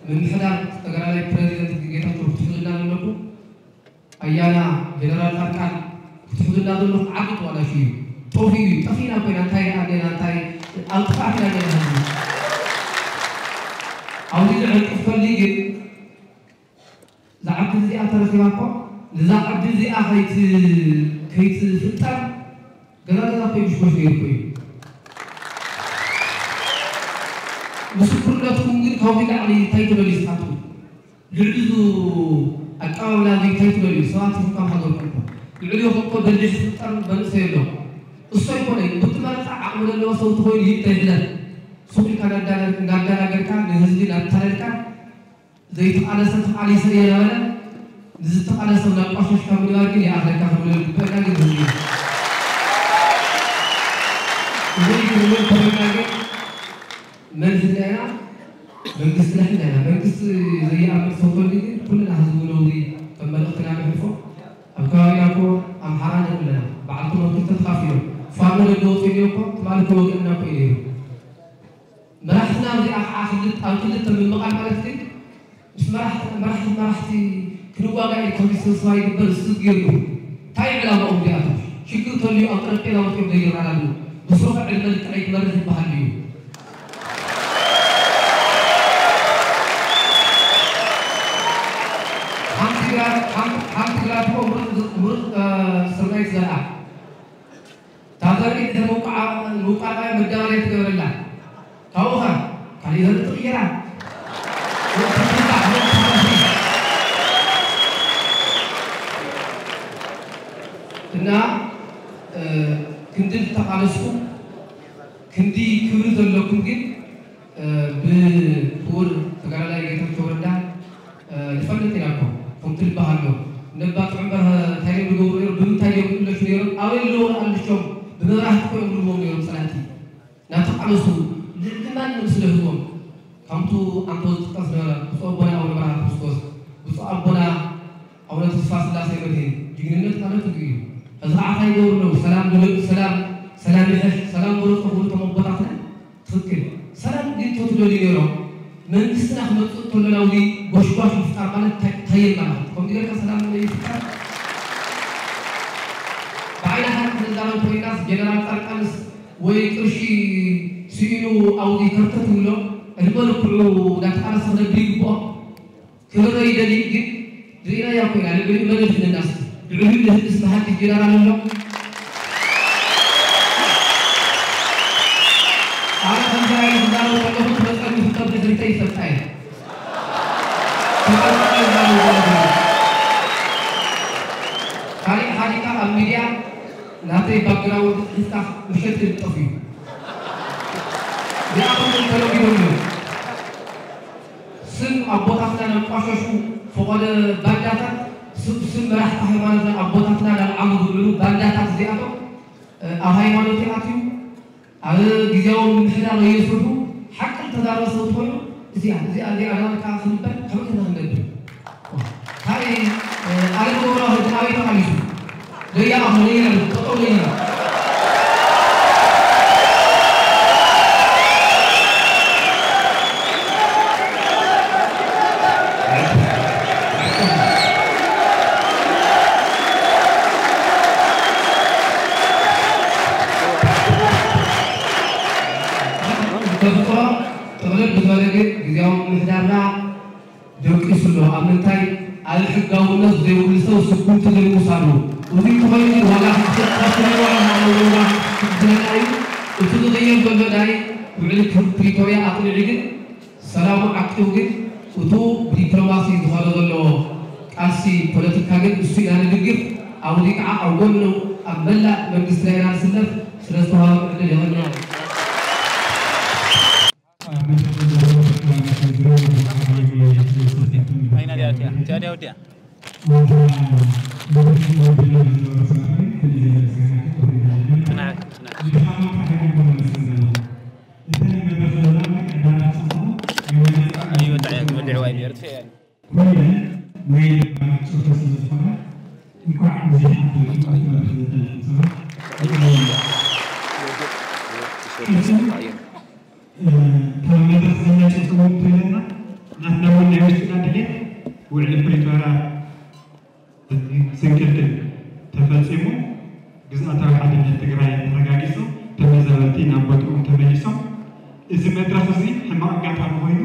ምምሕዳር ተጋዳላይ ፕረዚደንት ጌታቸው ክትሕዙልና ዘለኩም፣ ኣያና ጀነራል ጻድቃን ክትሕዙልና ዘለኹም ዓቢ ተዋናሽ እዩ። ጠፊኡ እዩ። ጠፊእና ኮይና እንታይ ደኣ ኔና፣ እንታይ ኣብ ጥፍኣት ኢና ኔና ህዝቢ። ኣብዚ ዝዕንቅፍ ከሊ ግን እዛ ዓዲ እዚኣ ተረኺባ እኮ፣ ነዛ ዓዲ እዚኣ ከይት-፣ ከይትፍጠር ገዛ ገዛ እኮ ይጉሽጎሽ ነይሩ እኮ እዩ። ምስክርነትኩም ግን ካብዚ ላዕሊ እንታይ ትደልዩ ንስኻትኩም? ልዕሊ እዚ ኣቀባብላ እዚ እንታይ ትደልዩ? ሰባት ኢኹም ካብ ሃገርኩም እኮ። ልዕሊኹም እኮ በሊሕ ዝፍጠር መንእሰይ ኣሎ። እሱ ኣይኮነን፣ ብቲ መረፃ ዓቕሚ ዘለዎ ሰብ እንተኾይኑ ይንተ ይሕለፍ። ሱቕ ኢልካ እናዳነ-፣ እናዳናገርካ፣ ንህዝቢ እናታለልካ፣ ዘይተቓለሰ ተቓሊሰ እየ እናበለ ንዝተቓለሰ እናቋሸሽካ ምግባር ግን ይኣኽለካ ክንብል ዝግበአና ግን ህዝቢ እዩ። እዚ ክንብል ከለና ግን መን ህዝብና ኢና? መንግስትና ሕና ኢና። መንግስቲ ዘይኣምን ሰው ተልዩ ግን ኩልና ህዝቢ ነውሪ ከም መልእኽትና ነሕልፎ። ኣብ ከባቢና እኮ ኣምሓራ ንርኢ ኣለና። በዓልቲ መኪና ተኻፊሎም ፋኖ ደገ ወፂኡ እኮ ትማሊ እኮ ወገንና እኮ እዩ ነይሩ። መራሕትና እዚኣ ከዓ ክልተ፣ ኣብ ክልተ ምምቓል ማለት ግን ምስ መራሕቲ፣ መራሕቲ፣ መራሕቲ ክንዋጋእ እዩ ከምዚ ስብስባ ይግበር፣ እሱ ገይሩ። እንታይ ዕላማኦም እዚኣቶም? ሽግር ተልዩ ኣብ ጠረጴዛ ወፂኦም ዘይረዳድኡ። ብስሩኸ ዕድመ ልክዐይ ክመርሕ ይበሃል ድዩ? ሓንቲ ግራት፣ ሓንቲ፣ ሓንቲ ግራት እኮ ምሩፅ፣ ምሩፅ፣ እ፣ ስርናይ ትዘርኣ። እታ ዘርኢ ድሕሪ ምውቃዓ፣ ምውቃዓ መዳበርያ ትገብረላ። ካብኡ ኸ ካሊእ ዘርኢ ትቕይራ። እና፣ እ፣ ክንዲ ዝተቓለስኩም፣ ክንዲ ክብሪ ዘለኩም ግን እ፣ ብክቡር ተጋዳላይ ጌታቸው ረዳ፣ እ፣ ንፈልጥ ኢና እኮ። ከምቲ ዝበሃል ኣሎ፣ ነባ ጥዑም በርሀ እንታይ እዮም ዝገብሩ ነይሮም? ብምንታይ እዮም ዝእለሹ ነይሮም? ኣበይ ኣለዉ ኣልሾም? ብመብራህቲ እኮ እዮም ዝልዎም ነይሮም ጸላእቲ። እናተቓለሱ ልዕሊ ማንም ስለ ህዝቦም። ከምቱ ኣንቶ ዝጥቀስ ነበረ፣ ብፁዕ ኣቦና ኣቡነ በረኸት ክርስቶስ፣ ብፁዕ ኣቦና ኣቡነ ተስፋ ስላሴ መድህን፣ ጅግንነት ማለት እዚ እዩ። ሕዚ ከዓ እንታይ ይገብሩ ኣለዉ? ሰላም ድለ-፣ ሰላም፣ ሰላም ይሕሽ፣ ሰላም ምረጹ ክብሉ እቶም ኣቦታትና ትኽክል። ሰላም ግን ተትደልዩ ነይሮም፣ መንግስትና ክመጽእ እንተሎ ናብዚ ጎሽጓሽ ምፍጣር ማለት እንታይ፣ እንታይ የማላኽት? ከምዚ ጌርካ ሰላም ይፍጠር? ብዓይንኻ ክንዛረብ ኮይናስ ጀነራል ጻድቃንስ ወይ ቅርሺ ስኢኑ ኣብዚ ከርተት ይብሎ፣ ዕድመ ልክዑ እንዳተቃለሰ ክነብር ይግብኦ። ክብረ ይደሊ ግን ርኢናያ ኮይና ልዕሊ መን ድሕንና እስኪ? ልዕሊኡ ዝህልስ መሃንዲስ ጀነራል ኣሎ። ኣነ ከምዚ ዓይነት ዝዛረብ ከለኹ ክመፀኒ ክጠብ ድሕሪተይ ይፈልጣ እየ። ተቐልቀለ ይዛረብ ዘለኹ። ካሊእ ሓዲካ ኣብ ሚድያ ናተይ ባክግራውንድ ሒዝካ ውሸት ይልጠፍ እዩ። እዚኣቶም ተለሚዶም እዮም። ስም ኣቦታትና ነቋሸሹ ፈቐዶ ባንዳታት፣ ስም፣ ስም መራሕቲ ሃይማኖትና ኣቦታትና ነልዓሉ ዝውዕሉ ባንዳታት እዚኣቶም፣ እ፣ ኣብ ሃይማኖት ይኣትዩ፣ ኣብ ግዝያዊ ምምሕዳር የስርሑ። ሓቂ ዝተዛረበ ሰብ እንተኾይኑ፣ እዚኣ፣ እዚኣ፣ እዚኣ ዳርካ ክንበል ከመይ ኢና ክንገብር? ካበይ፣ እ፣ ኣለም ገብረዋህድ ኣበይ ተቓሊሱ? ለይኣኹ፣ ለይነብር፣ ጠጠው ለይነብር። ተፍቅሮ ጥቕልል ብዝበለ ግን ግዝያዊ ምምሕዳርና ደቂሱ ኣሎ። ኣብ ምንታይ? ኣብ ሕጋውነት ዘይብሉ ሰብ ስጉምቲ ዘይምውሳዱ። እዚ እንተኾይኑ ግን ዋጋ ክትከፍል፣ ዋጋ ክትከፍል ኣለዎ፣ ዋጋ ክትከፍል እዩ። እቲ ዝቕየር ዘሎ ናይ ውዕሊ ፕሪቶርያ ኣቕኒዑ ግን ሰላሙ ዓቂቡ ግን እቱ ብዲፕሎማሲ ዝኸዶ ዘሎ ቃልሲ ፖለቲካ ግን እሱ ኢና ንድግፍ። ኣብዚ ከዓ ኣብ ጎኑ ኣብ መላእ መንግስትና ኢና ንስለፍ። ስለ ዝተዋሃበ ዕድል የቐንየልና። ካብ መድረኽ ዝመፅእ ፅቡቅ እንተለና ናትና እውን ናይ ውሽጥና ድሌት ውዕሊ ፕሪቶርያ ስንክልክል ተፈፂሙ ግዝኣታዊ ሓድነት ትግራይ ተረጋጊፁ ተመዛበልቲ ናብ ቦትኦም ተመሊሶም እዚ መድረኽ እዚ ሕማቕ ኣጋጣሚ ኮይኑ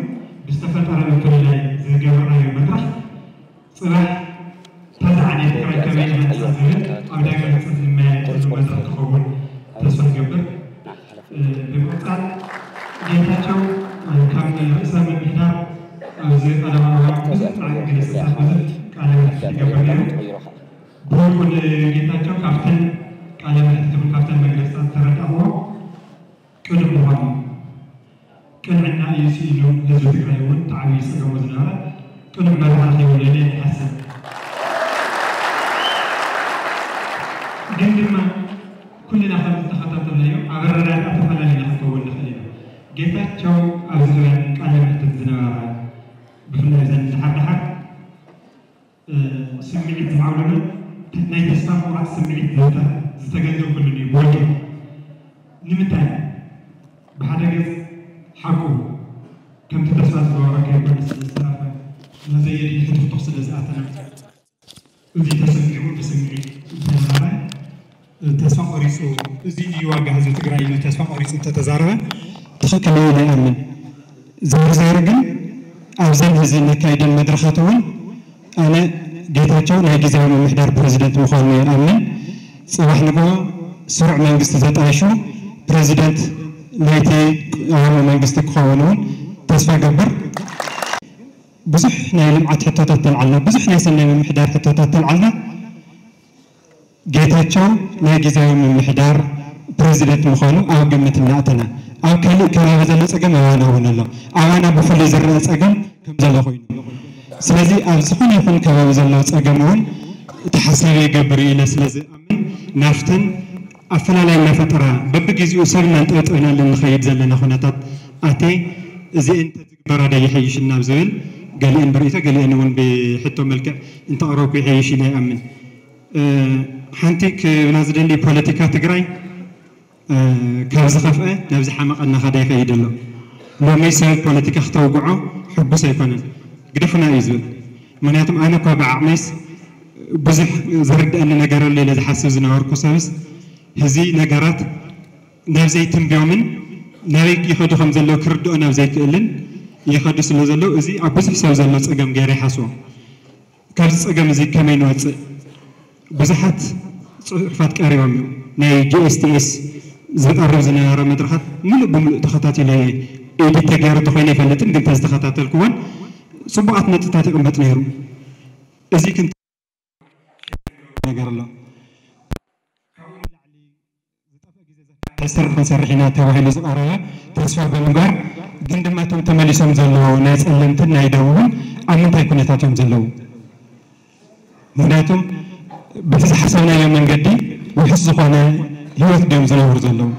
ብዝተፈጠረ ምፍልላይ ዝገበርናዮ መድረኽ ፅባሕ እታ ዝዓነየት ትግራይ ከመይ ንሃንፃ ዝብል ኣብ ዳግመ ህንፀት ንመያየጠሉ መድረኽ ክኸውን ተስፋ ይገብር። ብምቕፃል ጌታቸው ከም ርእሰ ምምሕዳር ኣብዚ ቀዳማይ እዋን ብዙሕ ፃዕሪ ገለፀታት ብዙሕ ቃለ መሕትት ይገብር ነይሩ። ብውልቁ ንጌታቸው ካብተን ቃለ መሕትት ይኹን ካብተን መግለፅታት ዝተረዳእዎ ቅኑዕ ምዃኑ እዩ። ቅንዕና እዩ ስኢኑ ህዝቢ ትግራይ እውን እቲ ዓብዪ ፀገሙ ዝነበረ ቅኑዕ መብራህርሂ እዩ ኢለ እየ ዝሓስብ። ግን ድማ ኩልና ከም ዝተኸታተልናዮ ኣብ ኣረዳድኣ ተፈላለዩና ክንከውን ንኽእል ኢና። ጌታቸው ኣብዚ እዋን ቃለ መሕትት ዝነበረ ብፍላይ እዘን ደሓር ደሓር ስምዒት ዝዓብለሎ ናይ ተስፋ ምቑራፅ ስምዒት ዝተገንዘብኩሉ እዩ ብወገን። ንምንታይ? ብሓደ ገፅ ሓቁ ከምቲ ተስፋ ዝገበሮ ከይኮነ ስለ ዝተረፈ ናብ ዘየድሊ ሕትኽቱኽ ስለ ዝኣተና እዚ ተሰሚዑ ብስምዒት እንተነበረ ተስፋ ቆሪፁ እዚ እዩ ዋጋ ህዝቢ ትግራይ ኢሉ ተስፋ ቆሪፁ እንተተዛረበ ትኽክል እዩ ኢለ ይኣምን። ዞሮ ዞሮ ግን ኣብዘን ሕዚ ነካይደን መድረኻት እውን ኣነ ጌታቸው ናይ ግዝያዊ ምምሕዳር ፕረዚደንት ምዃኑ ይኣምን። ፅባሕ ንግሆ ስሩዕ መንግስቲ ዘጣይሹ ፕረዚደንት ናይቲ ቅዋማዊ መንግስቲ ክኸውን እውን ተስፋ ገብር። ብዙሕ ናይ ልምዓት ሕቶታት ተልዓልና፣ ብዙሕ ናይ ሰናይ ምምሕዳር ሕቶታት ተልዓልና። ጌታቸው ናይ ግዝያዊ ምምሕዳር ፕረዚደንት ምዃኑ ኣብ ግምት እናእተና፣ ኣብ ካልእ ከባቢ ዘሎ ፀገም ኣባና እውን ኣሎ። ኣባና ብፍሉይ ዝረኣ ፀገም ከም ዘሎ ኮይኑ፣ ስለዚ ኣብ ዝኾነ ይኹን ከባቢ ዘሎ ፀገም እውን ተሓሳቢ ይገብር ኢለ ስለ ዝኣምን ናብተን ኣፈላላይ እናፈጠራ በብግዜኡ ሰብ እናንጠብጠብናለን ንኸይድ ዘለና ኩነታት ኣትየ እዚአን ተዝግበራ ዶ ይሐይሽ ናብ ዝብል ገሊአን ብርእይቶ ገሊአን እውን ብሕቶ መልክዕ እንተቕረብኩ ይሐይሽ ኢለ ይኣምን። ሓንቲ ክብላ ዝደሊ ፖለቲካ ትግራይ ካብ ዝኸፍአ ናብ ዝሓመቐ እናኸደ ይኸይድ ኣሎ። ሎሚ ሰብ ፖለቲካ ክተውግዖ ሕጉስ ኣይኮነን። ግደፉና እዩ ዝብል። ምክንያቱም ኣነ እኳ ብዓቕመይስ ብዙሕ ዝርድኣኒ ነገር ኣሎ ኢለ ዝሓስብ ዝነበርኩ ሰብስ ህዚ ነገራት ናብ ዘይትንብዮምን ናበይ ይኸዱ ከም ዘለዉ ክርድኦ ናብ ዘይክእልን ይኸዱ ስለ ዘለዉ እዚ ኣብ ብዙሕ ሰብ ዘሎ ፀገም ገይረ ይሓስቦ። ካብዚ ፀገም እዚ ከመይ ንወፅእ? ብዙሓት ጽሑፋት ቀሪቦም እዮም። ናይ ጂ ኤስ ቲ ኤስ ዝቐርብ ዝነበረ መድረኻት ምሉእ ብምሉእ ተኸታቲለ፣ ኤዲት ተገይሩ እንተኾይኑ ኣይፈልጥን፣ ግን ተዝተኸታተልኩዎን ጽቡቓት ነጥብታት ይቕመጥ ነይሩ። እዚ ግን ነገር ኣሎ። ዝጠፍእ ግዜ ዘካይድ ስራሕ ክንሰርሕ ኢና ተባሂሉ ዝቐረበ ተስፋ ብምግባር፣ ግን ድማ እቶም ተመሊሶም ዘለዉ ናይ ጸለምትን ናይ ደቡብን ኣብ ምንታይ ኩነታት እዮም ዘለዉ? ምክንያቱም በቲ ዝሓሰብናዮ መንገዲ ውሑስ ዝኾነ ህይወት ድዮም ዝነብሩ ዘለዉ?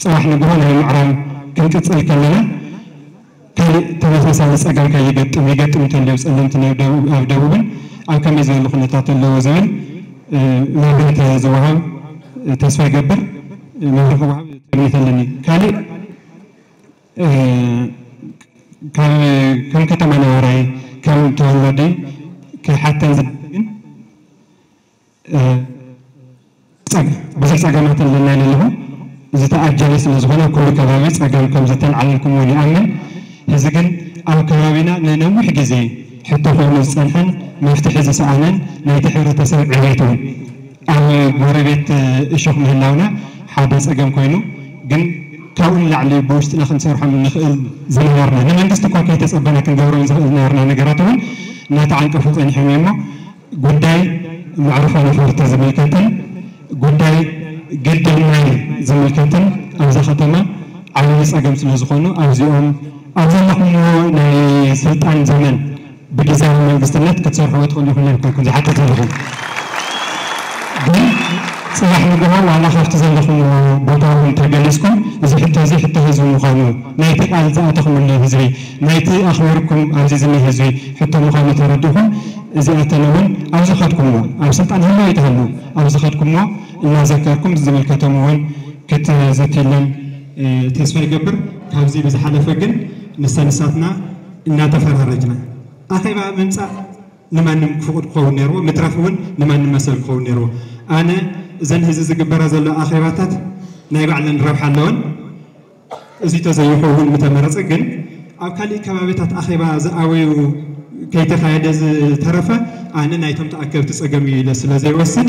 ጽባሕ ንግሆ ናይ ምዕራብ ክንቅጽል ከለና ካልእ ተመሳሳሊ ጸገም ከይገጥም ይገጥም እንተልዩ ጸለምቲ ናይ ደቡብ ኣብ ደቡብን ኣብ ከመይ ዝበለ ኩነታት ኣለዎ ዝብል መብርሂ ተዝወሃብ ተስፋ ይገብር። መብርሂ ክወሃብ ትምኒት ኣለኒ። ካልእ ከም ከም ከተማ ነባራይ ከም ተወላዲ ክሓተን ዝደሊ ግን ጸገም ብዙሕ ጸገማት ኣለና ኢለ ኣለኹ። ዝተኣጀለ ስለ ዝኾነ ኩሉ ከባቢ ጸገም ከም ዝተልዓለልኩም እውን ይኣምን። ሕዚ ግን ኣብ ከባቢና ንነዊሕ ግዜ ሕቶ ኮይኑ ዝጸንሐን መፍትሒ ዝሰኣነን ናይቲ ሕብረተሰብ ዕቤት እውን ኣብ ጎረቤት እሾኽ ምህላውና ሓደ ጸገም ኮይኑ ግን ካብኡ ንላዕሊ ብውሽጥና ክንሰርሖም ንኽእል ዝነበርና ንመንግስቲ እኳ ከይተጸበና ክንገብሮም ዝኽእል ዝነበርና ነገራት እውን እናተዓንቀፉ ጸኒሖም እዮም እሞ ጉዳይ መዕርፎ ነፈርቲ ዝምልከትን ጉዳይ ግድብ ማይ ዝምልከትን ኣብዛ ከተማ ዓብዪ ጸገም ስለ ዝኾኑ ኣብዚኦም ኣብ ዘለኹምዎ ናይ ስልጣን ዘመን ብግዝያዊ መንግስትነት ክትሰርሕዎ ትኽእሉ ኢኹም ኢልኩም ዝሓትት ዘለኹ ግን ጽባሕ ንግሆ ዋላ ካብቲ ዘለኹምዎ ቦታ እውን ተገሊጽኩም እዚ ሕቶ እዚ ሕቶ ህዝቢ ምዃኑ ናይቲ ቃል ዝኣተኹምሉ ህዝቢ ናይቲ ኣኽቢርኩም ኣብዚ ዝኒ ህዝቢ ሕቶ ምዃኑ ተረዲእኹም እዚኣተን እውን ኣብ ዝኸድኩምዎ ኣብ ስልጣን ህልው ይትሃሉ ኣብ ዝኸድኩምዎ እናዘከርኩም ዝምልከቶም እውን ክትዝትለን ተስፋ ይገብር። ካብዚ ብዝሓለፈ ግን ንሳ ንሳትና እናተፈራረጅና ኣኼባ ምምፃእ ንማንም ክፉቕድ ክኸውን ነይርዎ፣ ምትራፍ እውን ንማንም መሰል ክኸውን ነይርዎ። ኣነ እዘን ህዚ ዝግበራ ዘሎ ኣኼባታት ናይ ባዕለን ረብሓ ኣለወን። እዚ ተዘይኸውን ምተመረጸ ግን ኣብ ካሊእ ከባቢታት ኣኼባ ዝኣበዩ ከይተኻየደ ዝተረፈ ኣነ ናይቶም ተኣከብቲ ጸገም እዩ ኢለ ስለ ዘይወስድ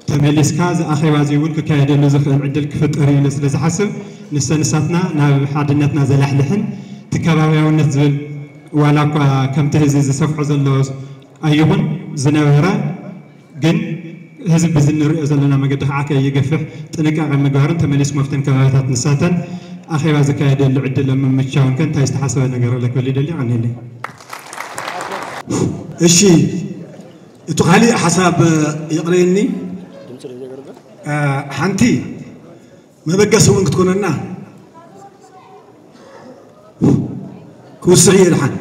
ተመሊስካ እዚ ኣኼባ እዚ እውን ክካየደሉ ዝኽእል ዕድል ክፍጠር እዩ ኢለ ስለ ዝሓስብ ንሰ ንሳትና ናብ ሓድነትና ዘላሕልሕን እቲ ከባቢያውነት ዝብል ዋላ እኳ ከምቲ ህዚ ዝሰፍሖ ዘሎ ኣይኹን ዝነበረ ግን ህዝቢ ብዚ ንሪኦ ዘለና መገዲ ከዓ ከይገፍሕ ጥንቃቄ ምግባርን ተመሊስኩም ኣብተን ከባቢታት ንሳተን ኣኼባ ዝካየደሉ ዕድል ኣብ ምምቻውን ከ እንታይ ዝተሓሰበ ነገር ኣሎ ክብል ይደሊ ቀኒለይ። እሺ እቲ ካሊእ ሓሳብ ይቕረየኒ ሓንቲ መበገሲ እውን ክትኮነና ክውስኽ እየ ድሓን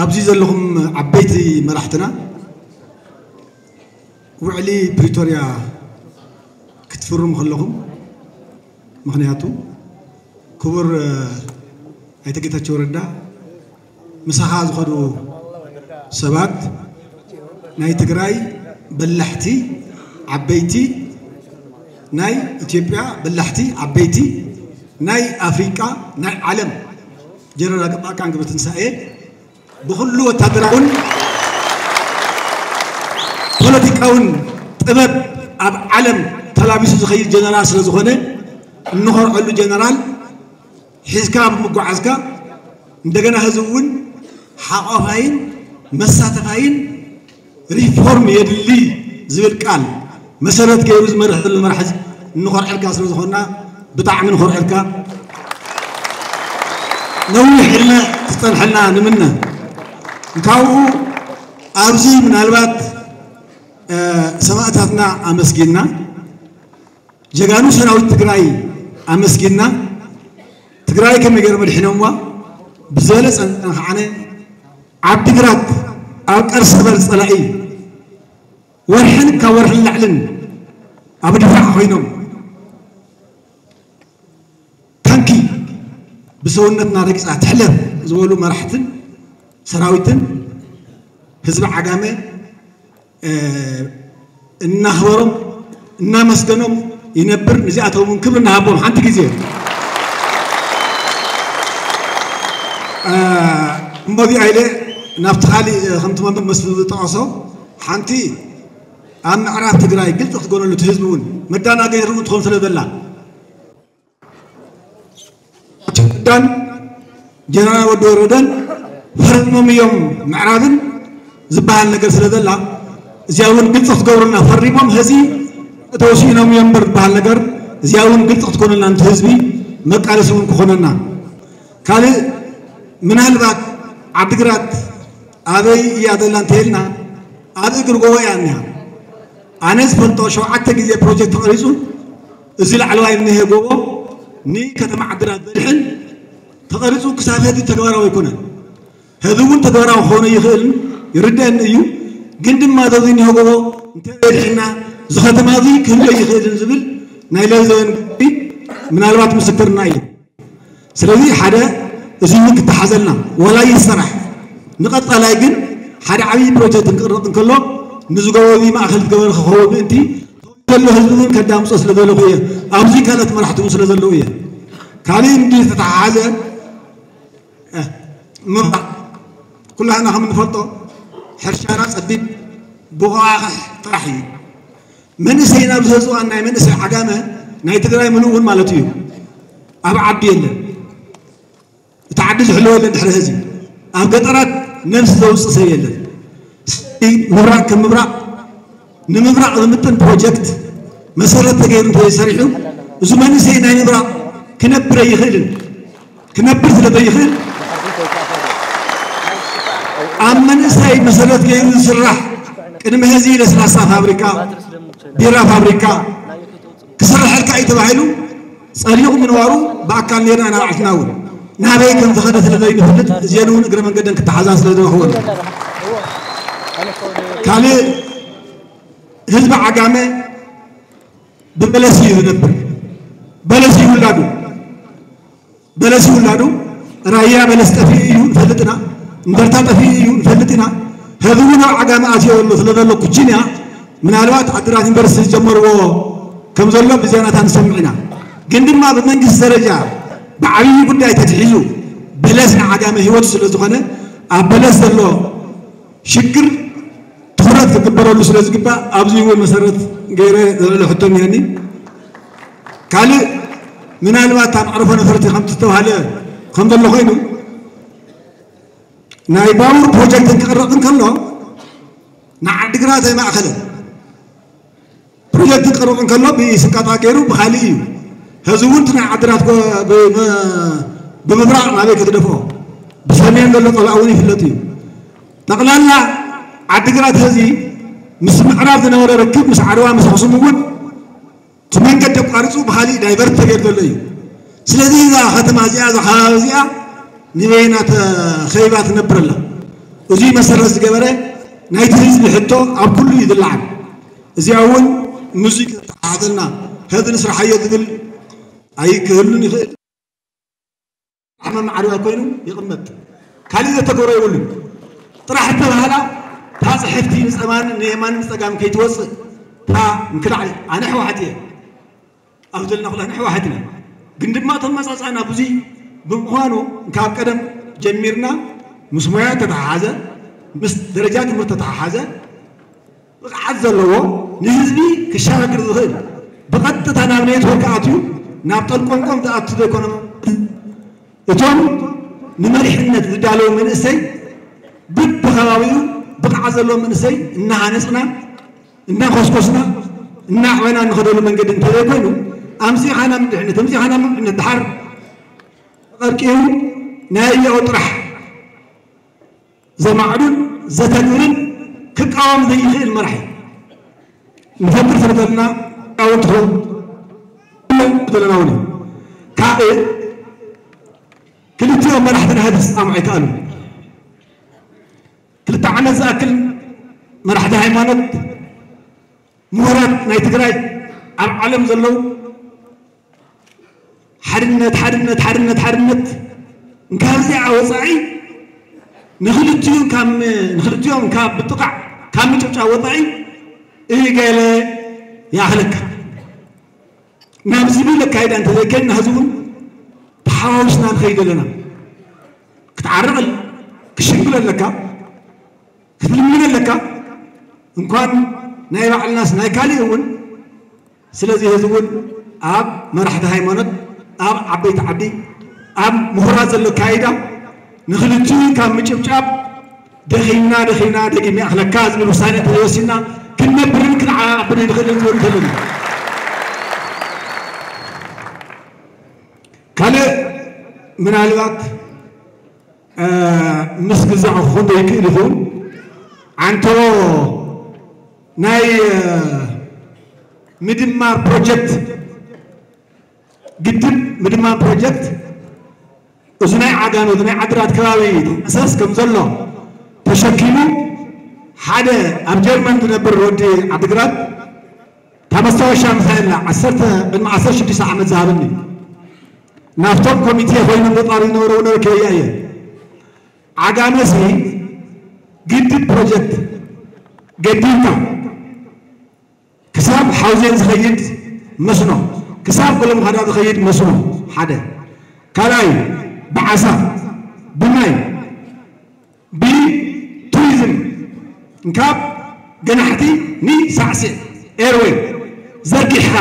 ኣብዚ ዘለኹም ዓበይቲ መራሕትና ውዕሊ ፕሪቶርያ ክትፍርሙ ከለኹም ምኽንያቱ ክቡር ኣይተ ጌታቸው ረዳ ምሳኻ ዝኸዱ ሰባት ናይ ትግራይ በላሕቲ ዓበይቲ ናይ ኢትዮጵያ በላሕቲ ዓበይቲ ናይ ኣፍሪቃ ናይ ዓለም ጀነራል ጻድቃን ገብረትንሳኤ ብኩሉ ወታደራውን ፖለቲካውን ጥበብ ኣብ ዓለም ተላቢሱ ዝኸይድ ጀነራል ስለ ዝኾነ እንኾርዐሉ ጀነራል ሒዝካ ብምጓዓዝካ እንደገና ህዝቢ እውን ሓቋፋይን መሳተፋይን ሪፎርም የድሊ ዝብል ቃል መሰረት ገይሩ ዝመርሕ ዘሎ መራሒ እንኾርዐልካ ስለ ዝኾንና ብጣዕሚ ንኾርዐልካ ነዊሕ ዕድመ ትፀንሐልና ንምነ ካብኡ ኣብዚ ምናልባት ሰማእታትና ኣመስጊንና ጀጋኑ ሰራዊት ትግራይ ኣመስጊንና ትግራይ ከመይ ገይሮም ኣድሒኖምዋ ብዝበለፀ ከዓነ ዓዲግራት ኣብ ቀርሰበር ፀላኢ ወርሕን ካብ ወርሕን ላዕልን ኣብ ድፋዕ ኮይኖም ታንኪ ብሰውነትና ረግፃ ትሕለፍ ዝበሉ መራሕትን ሰራዊትን ህዝቢ ዓጋመ እናኽበሮም እናመስገኖም ይነብር። ንዚኣቶም እውን ክብሪ እናሃቦም ሓንቲ ግዜ እሞዚኣ ኢለ ናብቲ ካሊእ ከምቲ መምህር መስፍን ዝጠቐሶ ሓንቲ ኣብ ምዕራብ ትግራይ ግልፂ ክትኮነሉ እቲ ህዝቢ እውን መዳናገሪ እውን ትኾን ስለ ዘላ ዳን ጀነራል ወዲ ወረደን ፈሪሞም እዮም ምዕራብን ዝበሃል ነገር ስለ ዘላ እዚኣ እውን ግልፂ ክትገብሩልና ፈሪሞም ህዚ ተወሲኖም እዮም እምበር ዝበሃል ነገር እዚኣ እውን ግልፂ ክትኮነልና ነቲ ህዝቢ መቃለሲ እውን ክኾነና ካልእ ምናልባት ዓድግራት ኣበይ እያ ዘላ እንተልና ኣብ እግሪ ጎቦ እያ እኒሃ ኣነ ዝፈልጦ ሸውዓተ ግዜ ፕሮጀክት ተቐሪፁ እዚ ላዕለዋይ እኒሀ ጎቦ ንከተማ ዓድግራት ዘድሕን ተቐሪፁ ክሳብ ሕዚ ተግባራዊ ኣይኮነን ሕዚ እውን ተግባራዊ ክኾነ ይኽእልን ይርደአኒ እዩ ግን ድማ ዘዚ እኒሆ ጎቦ እንተዘይድሕና እዚ ከተማ እዚ ክህሎ ይኽእልን ዝብል ናይ ለዘበን ጉዳይ ምናልባት ምስክርና እዩ ስለዚ ሓደ እዚ እውን ክተሓዘልና ዋላ ይሰራሕ ንቐፃላይ ግን ሓደ ዓብዪ ፕሮጀክት እንቅረፅ እንከሎ ንዝገበሩ ማእኸል ዝገበረ ክኸውን ምእንቲ ዘሎ ህዝቢ እውን ከዳምፆ ስለ ዘለኹ እየ ኣብዚ ካልኦት መራሕቲ እውን ስለ ዘለዉ እየ ካልእ እንዲ ዝተተሓሓዘ ምብራቕ ኩላህና ከም እንፈልጦ ሕርሻና ፀቢብ ብቑቓሕ ጥራሕ እዩ መንእሰይ ናብ ዝህዝዋን ናይ መንእሰይ ዓጋመ ናይ ትግራይ ምሉእ እውን ማለት እዩ ኣብ ዓዲ የለን እቲ ዓዲ ዝሕልወ የለን ድሕሪ ህዚ ኣብ ገጠራት ነብሲ ዘውፅእ ሰብ የለን ምብራቕ ከም ምብራቕ ንምብራቕ ዝምጥን ፕሮጀክት መሰረት ተገይሩ እንተዘይሰሪሑ እዚ መንእሰይ ናይ ምብራቕ ክነብር ኣይኽእልን ክነብር ስለ ዘይኽእል ኣብ መንእሰይ መሰረት ገይሩ ዝስራሕ ቅድሚ ሕዚ ለስላሳ ፋብሪካ ቢራ ፋብሪካ ክስረሐልካ እዩ ተባሂሉ ጸሊቑ ምንባሩ ብኣካል ኔርና ኢና ባዕልና እውን ናበይ ከም ዝኸደ ስለ ዘይንፈልጥ እዚአን እውን እግረ መንገደን ክተሓዛ ስለ ዝረኽቦን ካልእ ህዝቢ ዓጋመ ብበለስ እዩ ዝነብር በለስ እዩ ውላዱ በለስ ይውላዱ ራያ በለስ ጠፊኡ እዩ ንፈልጥ ኢና እንደርታ ጠፊኡ እዩ ንፈልጥ ኢና ህዝቡ ናብ ዓጋመ ኣትዮ ዘሎ ስለ ዘሎ ኩችንያ ምናልባት ዓድራት ዩኒቨርሲቲ ዝጀመርዎ ከም ዘሎ ብዜናታት ንሰምዕ ኢና ግን ድማ ብመንግስቲ ደረጃ ብዓብዪ ጉዳይ ተትሒዙ በለስ ንዓጋመ ህይወቱ ስለ ዝኾነ ኣብ በለስ ዘሎ ሽግር ትኹረት ክግበረሉ ስለ ዝግባእ ኣብዚ እውን መሰረት ገይረ ዘልዕሎ ሕቶ እኒሀኒ ካልእ ምናልባት ኣብ መዕርፎ ነፈርቲ ከም ዝተባሃለ ከም ዘሎ ኮይኑ ናይ ባቡር ፕሮጀክት ክቕረፅ እንከሎ ንዓዲግራት ኣይማእኸለን ፕሮጀክት ክቕረፅ እንከሎ ብስቃጣ ገይሩ ብካሊእ እዩ ሕዚ እውን ናይ ዓድራት ብምብራቕ ናበይ ክትደፍኦ ብሰሜን ዘሎ ፀላእ እውን ይፍለጥ እዩ ጠቕላላ ዓዲግራት ሕዚ ምስ ምዕራብ ዝነበረ ርክብ ምስ ዓድዋ ምስ ኣኽሱም እውን እቲ መንገዲ ኣቋሪፁ ብካሊእ ዳይቨርት ተገይሩ ዘሎ እዩ ስለዚ እዛ ከተማ እዚኣ እዛ ከባቢ እዚኣ ንበይና ተኸይባ ትነብር ኣላ እዙ መሰረት ዝገበረ ናይቲ ህዝቢ ሕቶ ኣብ ኩሉ እዩ ዝለዓል እዚኣ እውን ምስዚ ክተሓሓዘልና ሕዚ ንስርሓዮ ዝብል ኣይክህሉን ይኽእል ዓመ ማዕሪዋ ኮይኑ ይቕመጥ ካልእ ዘተኮሮ የብሉን ጥራሕ እተባህላ እታ ፅሕፍቲ ንፀማን ንየማን ንፀጋም ከይትወፅእ እታ እንክላዕ ኣነ ሕወሓት እየ ኣብ ዘለና ኩላና ሕወሓት ኢና ግን ድማ እቶም መፃፃእና ብዙይ ብምዃኑ ካብ ቀደም ጀሚርና ምስ ሞያ ተተሓሓዘ ምስ ደረጃ ትምህርቲ ተተሓሓዘ ብቕዓት ዘለዎ ንህዝቢ ክሸጋግር ዝኽእል ብቐጥታ ናብ ኔትወርክ ኣትዩ ናብ ጠልቆምቆም ዝኣቱ ዘይኮነ እቶም ንመሪሕነት ዝዳለዉ መንእሰይ ብብኸባቢኡ ብቕዓት ዘለዎ መንእሰይ እናሃነፅና እናኾስኮስና እናዕበና እንኸደሉ መንገዲ እንተዘይኮይኑ ኣምፂኻና ምድሕነት ኣምፂኻና ምድሕነት ድሓር ተቐርቂሩ ናይ ያው ጥራሕ ዘማዕዱን ዘተግብርን ክቃወም ዘይኽእል መራሒ ንፈጥር ስለ ዘለና እውን ትኸውን ዘለና እውን እዩ። ካልእ ክልቲኦም መራሕቲ ናይ ህዝቢ ክስማሙ ኣይከኣሉን። ክልተ ዓመት ዝኣክል መራሕቲ ሃይማኖት፣ ምሁራት ናይ ትግራይ፣ ኣብ ዓለም ዘለዉ ሓድነት ሓድነት ሓድነት ሓድነት እንካብዚኣ ወፃኢ ንክልቲኡ ካብ ንክልቲኦም ካብ ብጥቃዕ ካብ ምጭብጫብ ወፃኢ እገለ ይኣኽለካ ናብ ዝብል ኣካይዳ እንተዘይከድና ሕዚ እውን ተሓዋዊስና ንኸይድ ኣለና። ክትዓርቕ ክሽንግል ኣለካ። ክትልምን ኣለካ። እንኳን ናይ ባዕልናስ ናይ ካሊእ እውን። ስለዚ ህዝቢ እውን ኣብ መራሕቲ ሃይማኖት፣ ኣብ ዓበይቲ ዓዲ፣ ኣብ ምሁራት ዘሎ ኣካይዳ ንክልቲኡ ካብ ምጭብጫብ ደኺምና ደኺምና ደጊም ይኣኽለካ ዝብል ውሳኔ እንተዘይወሲንና ክንነብርን ክንዓብን ኣይንኽእልን ዝብል እንተሎ ካልእ ምናልባት ምስ ግዛዕ ክኾን ዘይክእል ይኸውን። ዓንተሮ ናይ ምድማር ፕሮጀክት፣ ግድብ ምድማር ፕሮጀክት እዚ ናይ ዓጋመ፣ እዚ ናይ ዓድራት ከባቢ ተንቀሳስ ከም ዘሎ ተሸኪሙ ሓደ ኣብ ጀርመን ዝነብር ወዲ ዓድግራት እታ መስታወሻ ምሳይ ኣላ ዓሰርተ ቅድሚ ዓሰርተ ሽዱሽተ ዓመት ዝሃበኒ ናብቶም ኮሚቴ ኮይኖም ዘጣሩ ዝነበሩ ወደር ከያ እየ። ዓጋመሲ ግድብ ፕሮጀክት ገዲምካ ክሳብ ሓውዜን ዝኸይድ መስኖ፣ ክሳብ ገለምኻዳ ዝኸይድ መስኖ ሓደ። ካልኣይ ብዓሳ፣ ብማይ፣ ብቱሪዝም እንካብ ገናሕቲ ንሳዕስዕ ኤርወይ ዘርጊሕካ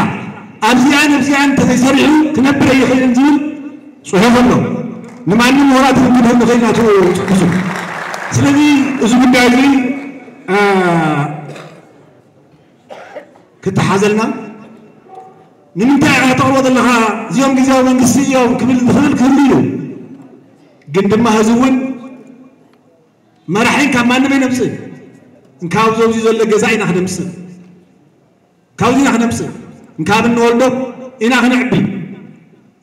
ኣብዚኣን ኣብዚኣን እንተዘይሰሪሑ ክነብር ኣይኽእልን ዝብል ጽሑፍ ኣሎ። ንማንም ምሁራት ክንክንህብ ንኽእል ናቱ ጽሑፍ። ስለዚ እዚ ጉዳይ እዚ እ፣ ክተሓዘልና ንምንታይ ኢኻ ተቕርቦ ዘለኻ? እዚኦም ግዜያዊ መንግስቲ እዮም ክብል ዝኽእል ክህሉ እዩ። ግን ድማ ህዝቢ እውን መራሒ ካብ ማንም ኣይነምፅእ። እንካብ ዘውዚ ዘሎ ገዛ ኢና ክነምፅእ፣ ካብዚ ኢና ክነምፅእ፣ እንካብ እንወልዶ ኢና ክነዕቢ።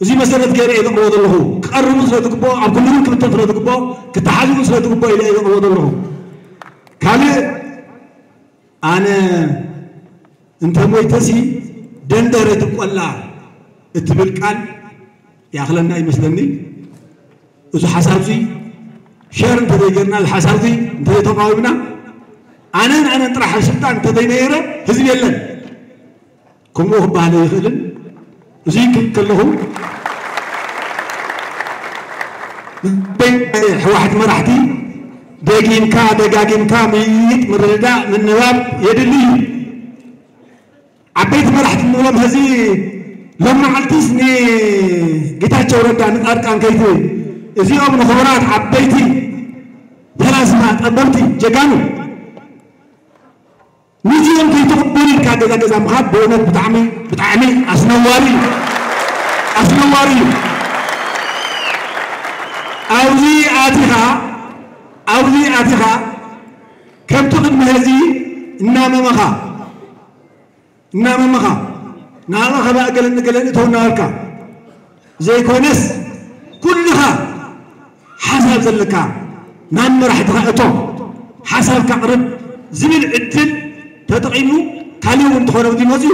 እዚ መሰረት ገይረ እየ ዘቕርቦ ዘለኹ። ክቐርቡ ስለ ዝግብኦ፣ ኣብ ኩሉ ክብተን ስለ ዝግብኦ፣ ክተሓዝቡ ስለ ዝግብኦ ኢለ እየ ዘቕርቦ ዘለኹ። ካልእ ኣነ እንተ ሞይተሲ ደንደረ ትቆላ እትብል ቃል ይኣኽለና ይመስለኒ። እዚ ሓሳብ እዚ ሸር እንተዘይገርና፣ እዚ ሓሳብ እዚ እንተዘይተቃዊምና፣ ኣነን ኣነን ጥራሕ ኣብ ስልጣን እንተዘይነይረ ህዝቢ የለን። ከምኡ ክበሃል ኣይኽእልን። እዚ ክብል ከለኹ ህወሓት መራሕቲ ደጊምካ ደጋጊምካ ምይይጥ፣ ምርድዳእ፣ ምንባብ የድሊ እዩ። ዓበይቲ መራሕቲ እንብሎም ሕዚ ሎም መዓልቲስ ንጌታቸው ረዳ ንጻድቃን ከይት እዚኦም ንኽቡራት ዓበይቲ ፈላስፋ ጠበብቲ ጀጋኑ ንዚኦም ከይትቕበሉ ኢልካ ገዛ ገዛ ምኻድ ብእውነት ብጣዕሚ ብጣዕሚ ኣስነዋሪ እዩ። ኣስነዋሪ እዩ። ኣብዚ ኣቲኻ ኣብዚ ኣቲኻ ከምቲ ቅድሚ ሕዚ እናመመኻ እናመመኻ ንኣኻ ከባእ ገለን ገለን እተው እናበልካ ዘይኮነስ ኩልኻ ሓሳብ ዘለካ ናብ መራሕትኻ እቶ ሓሳብካ ቅርብ ዝብል ዕድል ተጠቒሙ ካሊእ እውን እንተኾነ ኣብዚ መፅዩ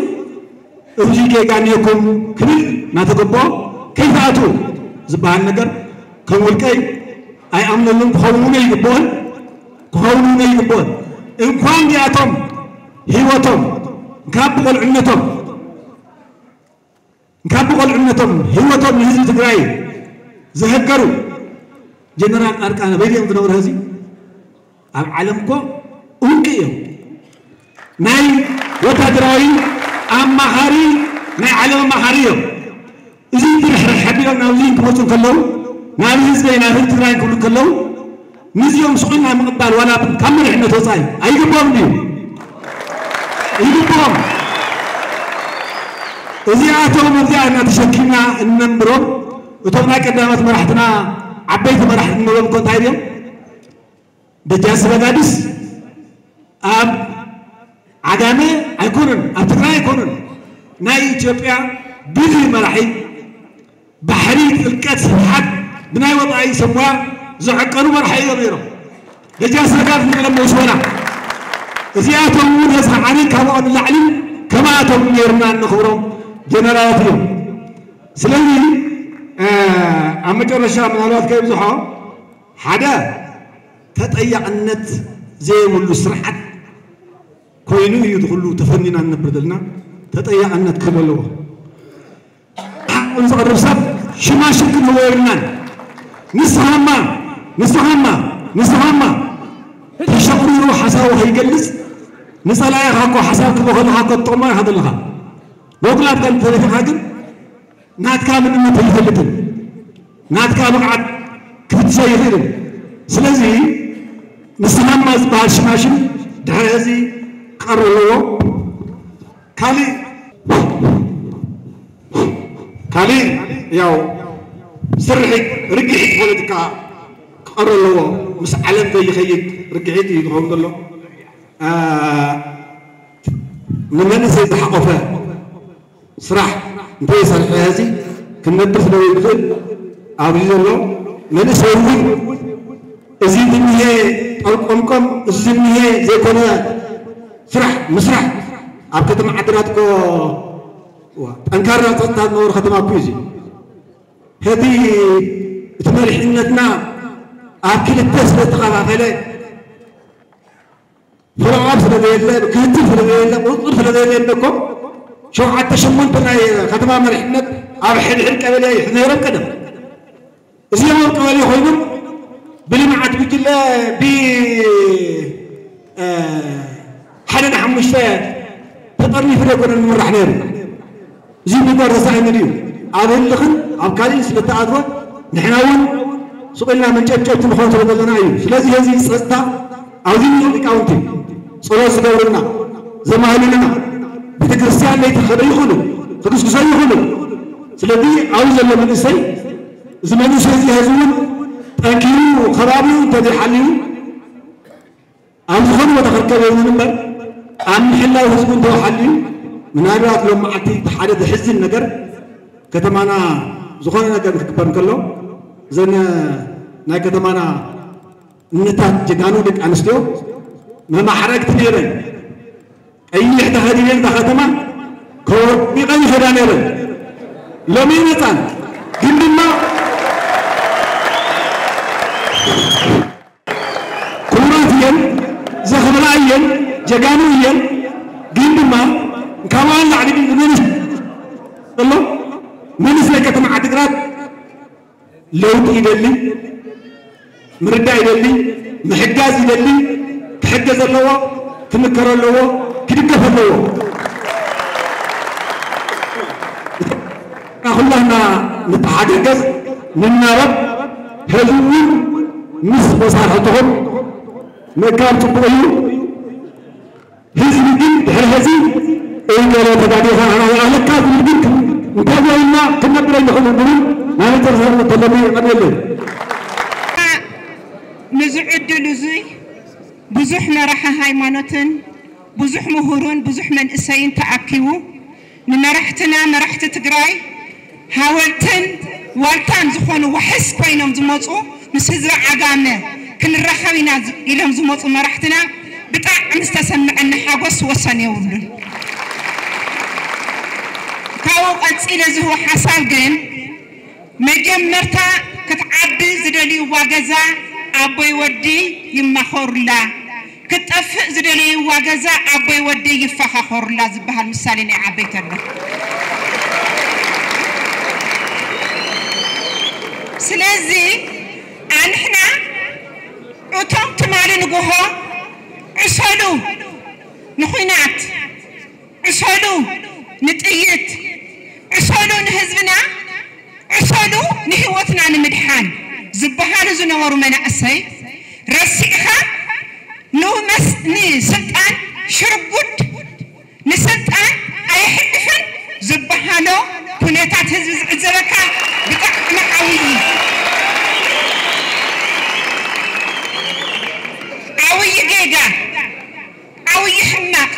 እዚ ጌጋ እኒኦኩም ክብል እናተገበኦ ከይትኣትዉ ዝበሃል ነገር ከም ውልቀይ ኣይኣምነሉን ክኸውን እውን ኣይግብኦን። ክኸውን እውን ኣይግብኦን። እንኳን ዲኣቶም ህይወቶም ካብ ብቆልዕነቶም ካብ ብቆልዕነቶም ህይወቶም ንህዝቢ ትግራይ ዘሀገሩ ጀነራል ፃድቃን ኣበይ ድዮም ዝነብሩ ሕዚ? ኣብ ዓለም እኮ እንቂ እዮም። ናይ ወታደራዊ ኣማኻሪ ናይ ዓለም ኣማኻሪ እዮም። እዚ ድርሕርሕ ሓቢሮም ናብዚ ክመፁ ከለዉ ናብ ህዝበይ ናብ ህዝቢ ትግራይ ክብሉ ከለዉ ንዚኦም ስቑና ምቕባል ዋላ ካብ መሪሕነት ወፃኢ ኣይግብኦም ድዩ? ይግብኦም። እዚኣቶም እዚኣ እናተሸኪምና እነንብሮም እቶም ናይ ቀዳሞት መራሕትና ዓበይቲ መራሕቲ እንብሎም እኮ እንታይ ድዮም? ደጃስ በጋዲስ ኣብ ዓጋመ ኣይኮኑን፣ ኣብ ትግራይ ኣይኮኑን። ናይ ኢትዮጵያ ብልህ መራሒ ባሕሪ ጥልቀት ስፍሓት ብናይ ወፃኢ ሰብ ሞያ ዘዕቀኑ መራሒ እዮም ነይሮም። ደጃስ በጋዲስ ንብሎም መውስቦና እዚኣቶም እውን ህዝቢ ዓሊ ካብኦም ንላዕሊ ከማኣቶም ነይርና እንኽብሮም ጀነራላት እዮም። ስለዚ ኣብ መጨረሻ ምናልባት ከይብዝሖ ሓደ ተጠያቕነት ዘይብሉ ስርዓት ኮይኑ እዩ ዝኹሉ ተፈኒና ንነብር ዘለና። ተጠያቕነት ክህሉ ኣለዎ። ሓቁን ዘቕርብ ሰብ ሽማሽም ክንህቦ የብልናን። ንስኻማ ንስኻማ ንስኻማ ተሸቑሪሩ ሓሳቡ ከይገልጽ፣ ንጸላኢኻ እኮ ሓሳብ ክትህቦ ከለኻ እኮ ትጥቕሞ ኢኻ ዘለኻ። ብውክላትካ እንተደፊእካ ግን ናትካ መንነት ኣይፈልጥን። ናትካ ብቕዓት ክፍትሾ ኣይኽእልን። ስለዚ ንስኻ እማ ዝበሃል ሽማሽም ድሕሪ ሕዚ ክቐርብ ኣለዎ። ካልእ ካልእ ያው ስርሒት ርግሒት ፖለቲካ ክቐርብ ኣለዎ። ምስ ዓለም ዘይኸይድ ርግሒት እዩ ዝኸውን ዘሎ። አ፣ ንመንእሰይ ዝሓቆፈ ስራሕ እንተይሰርሐ ሕዚ ክነብር ስለ ዘይክእል ኣብዚ ዘሎ መንእሰይ እውን እዚ ዝኒሄ ጠርቆምቆም፣ እዚ ዝኒሄ ዘይኮነ ስራሕ ምስራሕ ኣብ ከተማ ዓድግራት እኮ ጠንካራ ጸጥታ ዝነበሮ ከተማ እኮ እዩ እዚ። ሕዚ እቲ መሪሕነትና ኣብ ክልተ ስለ ዝተኸፋፈለ ፍርቓ ስለ ዘየለ፣ ክትትል ስለ ዘየለ፣ ቁፅፅር ስለ ዘየለ እኮ ሸውዓተ ሸሞንተ ናይ ከተማ መሪሕነት ኣብ ሕድሕድ ቀበሌ ይሕዝ ነይሮም ቀደም። እዚኦም ኣብ ቀበሌ ኮይኖም ብልምዓት ጉጅለ ብ ሓደ ንሓሙሽተ ተጠርኒፉ ዘይኮነን ዝምራሕ ነይሩ። እዚ ምግባር ተሳኢኑ ድዩ? ኣብ ህልኽን ኣብ ካልእን ስለ ተኣትወ ንሕና እውን ስቕ ኢልና መንጨብጨብቲ ንኾን ስለ ዘለና እዩ። ስለዚ ህዝቢ ጸጥታ ኣብዚ ንሪኦ ሊቃውንቲ ጸሎት ዝገብሩልና ዘማህሉልና ቤተ ክርስቲያን ለይቲ ክኸደ ይኽእሉ ክግስግሶ ይኽእሉ። ስለዚ ኣብዚ ዘሎ መንእሰይ እዚ መንእሰይ እዚ ሕዚ እውን ጠንኪሩ ከባቢኡ እንተዘይሓልዩ ኣብ ዝኾነ ቦታ ክርከብ የብሉን እምበር ኣብ ምሕላው ህዝቡ እንተወሓልዩ ምናልባት ሎም መዓልቲ እቲ ሓደ ዘሕዝን ነገር ከተማና ዝኾነ ነገር ክግበር እንከሎ እዘን ናይ ከተማና እነታት ጀጋኑ ደቂ ኣንስትዮ መማሕረግቲ ነይረን ቀይሕ ተኸዲነን እታ ከተማ ከወርቢቐን ይኸዳ ነይረን ሎሚ ይመፃን ግን ድማ ክቡራት እየን፣ ዘኽብራ እየን፣ ጀጋኑ እየን። ግን ድማ ካብኣን ላዕሊ ግን ዝመንስ ዘሎ መንእሰይ ከተማ ዓድግራት ለውጢ ይደሊ፣ ምርዳእ ይደሊ፣ ምሕጋዝ ይደሊ፣ ክሕገዝ ኣለዎ፣ ክምከር ኣለዎ፣ ክድገፍ ኣለዎ። ኩላህና ንተሓጋገዝ ንናበብ። ሕዚ እውን ምስ መሳርሕትኹም ምእካብ ፅቡቕ እዩ። ህዝቢ ግን ድሕሪ ሕዚ እገለ ተጋዲኻ ኣህለካ ዝብል ግን እንታይ ኮይና ክነብር ኣይንኽእልን ዝብል ናይ መጨረሻ ተለሚ ይቐርበለይ። ንዚ ዕድል እዙይ ብዙሕ መራሒ ሃይማኖትን ብዙሕ ምሁርን ብዙሕ መንእሰይን ተኣኪቡ ንመራሕትና መራሕቲ ትግራይ ሃወልትን ዋልታን ዝኾኑ ዋሕስ ኮይኖም ዝመፁ ምስ ህዝቢ ዓጋመ ክንራኸብ ኢና ኢሎም ዝመፁ መራሕትና ብጣዕሚ ዝተሰምዐኒ ሓጎስ ወሰን የብሉን። ካብኡ ቀፂለ ዝህቦ ሓሳብ ግን መጀመርታ ክትዓቢ ዝደልይዋ ገዛ ኣቦይ ወዲ ይማኸሩላ፣ ክትጠፍእ ዝደለይዋ ገዛ ኣቦይ ወደይ ይፋኻኸሩላ ዝበሃል ምሳሌ ናይ ዓበይቲ ኣሎ። ስለዚ ኣንሕና እቶም ትማሊ ንጉሆ ዕሰሉ ንኹናት፣ ዕሰሉ ንጥይት፣ ዕሰሉ ንህዝብና፣ ዕሰሉ ንህይወትና ንምድሓን ዝበሃሉ ዝነበሩ መናእሰይ ረሲዕኻ ንስልጣን ሽርጉድ ንስልጣን ኣየሕልፍን ዝበሃሎ ኩነታት ህዝቢ ዝዕዘበካ ብጣዕሚ ዓብዪ ዓብዪ ጌጋ ዓብዪ ሕማቕ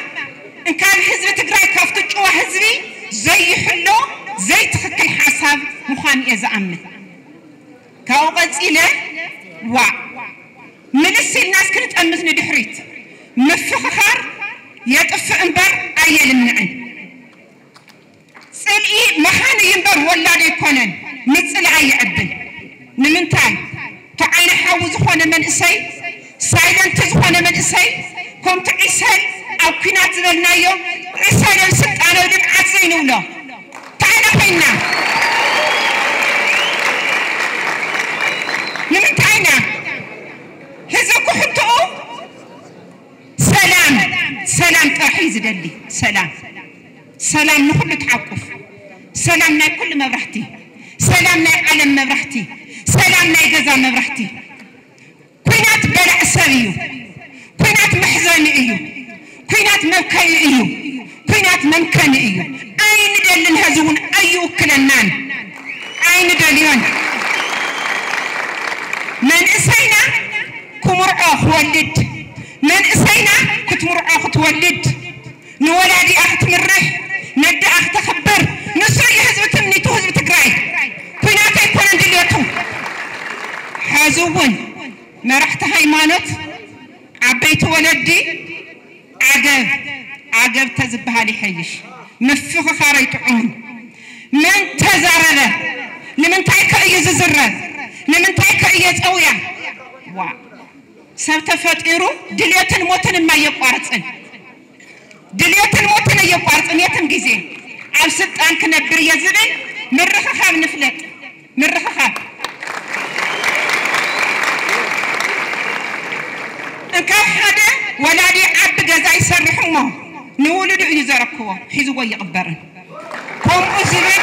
እንካን ህዝቢ ትግራይ ካብቲ ጭዋ ህዝቢ ዘይሕሎ ዘይትኽክል ሓሳብ ምዃኑ እየ ዝኣምን። ካብኡ ቀፂለ ዋዕ ምልስ ኢልናስ ክንጠምት ንድሕሪት ምፍኽኻር የጥፍእ እምበር ኣየልምዕን። ፅልኢ መኻን እዩ እምበር ወላድ ኣይኮነን። ምፅላእ የዕብን። ንምንታይ? ተዓይነ ሓዊ ዝኾነ መንእሰይ ሳይለንት ዝኾነ መንእሰይ ከምቲ ዒሰል ኣብ ኲናት ዝበልናዮ ዒሰልን ስልጣነው ልምዓት ዘይንብሎ እንታይ ኢና ኮይንና? ንምንታይ ኢና ህዝቢ ክሕትኡ ዝደሊ ሰላም፣ ሰላም ንኹሉ ትሓቁፍ፣ ሰላም ናይ ኩሉ መብራህቲ፣ ሰላም ናይ ዓለም መብራህቲ፣ ሰላም ናይ ገዛ መብራህቲ። ኩናት በላዕ ሰብ እዩ። ኩናት መሕዘኒ እዩ። ኩናት መብከይ እዩ። ኩናት መምከኒ እዩ። ኣይንደልን፣ ህዝቢ እውን ኣይውክለናን። ኣይንደልዮን። መንእሰይና ክምርዖ ክወልድ፣ መንእሰይና ክትምርዖ ክትወልድ፣ ንወላዲኣ ክትምርሕ፣ ነደኣ ክተኽብር፣ ንሱ እዩ ህዝቢ ትምኒቱ፣ ህዝቢ ትግራይ። ኩናት ኣይኮነን ድልየቱ። ሕዚ እውን መራሕቲ ሃይማኖት፣ ዓበይቲ ወለዲ፣ ዓገብ ዓገብ ተዝበሃል ይሐይሽ። ምፍኽኻር ኣይጥዑምን። መን ተዛረበ? ንምንታይ ከ እዩ ዝዝረብ? ንምንታይ ከ እየ ጸውያ? ዋ፣ ሰብ ተፈጢሩ ድልየትን ሞትን እማ የቋርጽን። ድልየትን ሞትን እየቋርጽን። የትም ግዜ ኣብ ስልጣን ክነብር እየ ዝብል ምርኽኻብ ንፍለጥ። ምርኽኻብ። እንካብ ሓደ ወላዲ ዓቢ ገዛ ይሰርሕ እሞ ንውሉዱ እዩ ዘረክቦ፣ ሒዝዎ ይቕበርን። ከምኡ ዝብል፣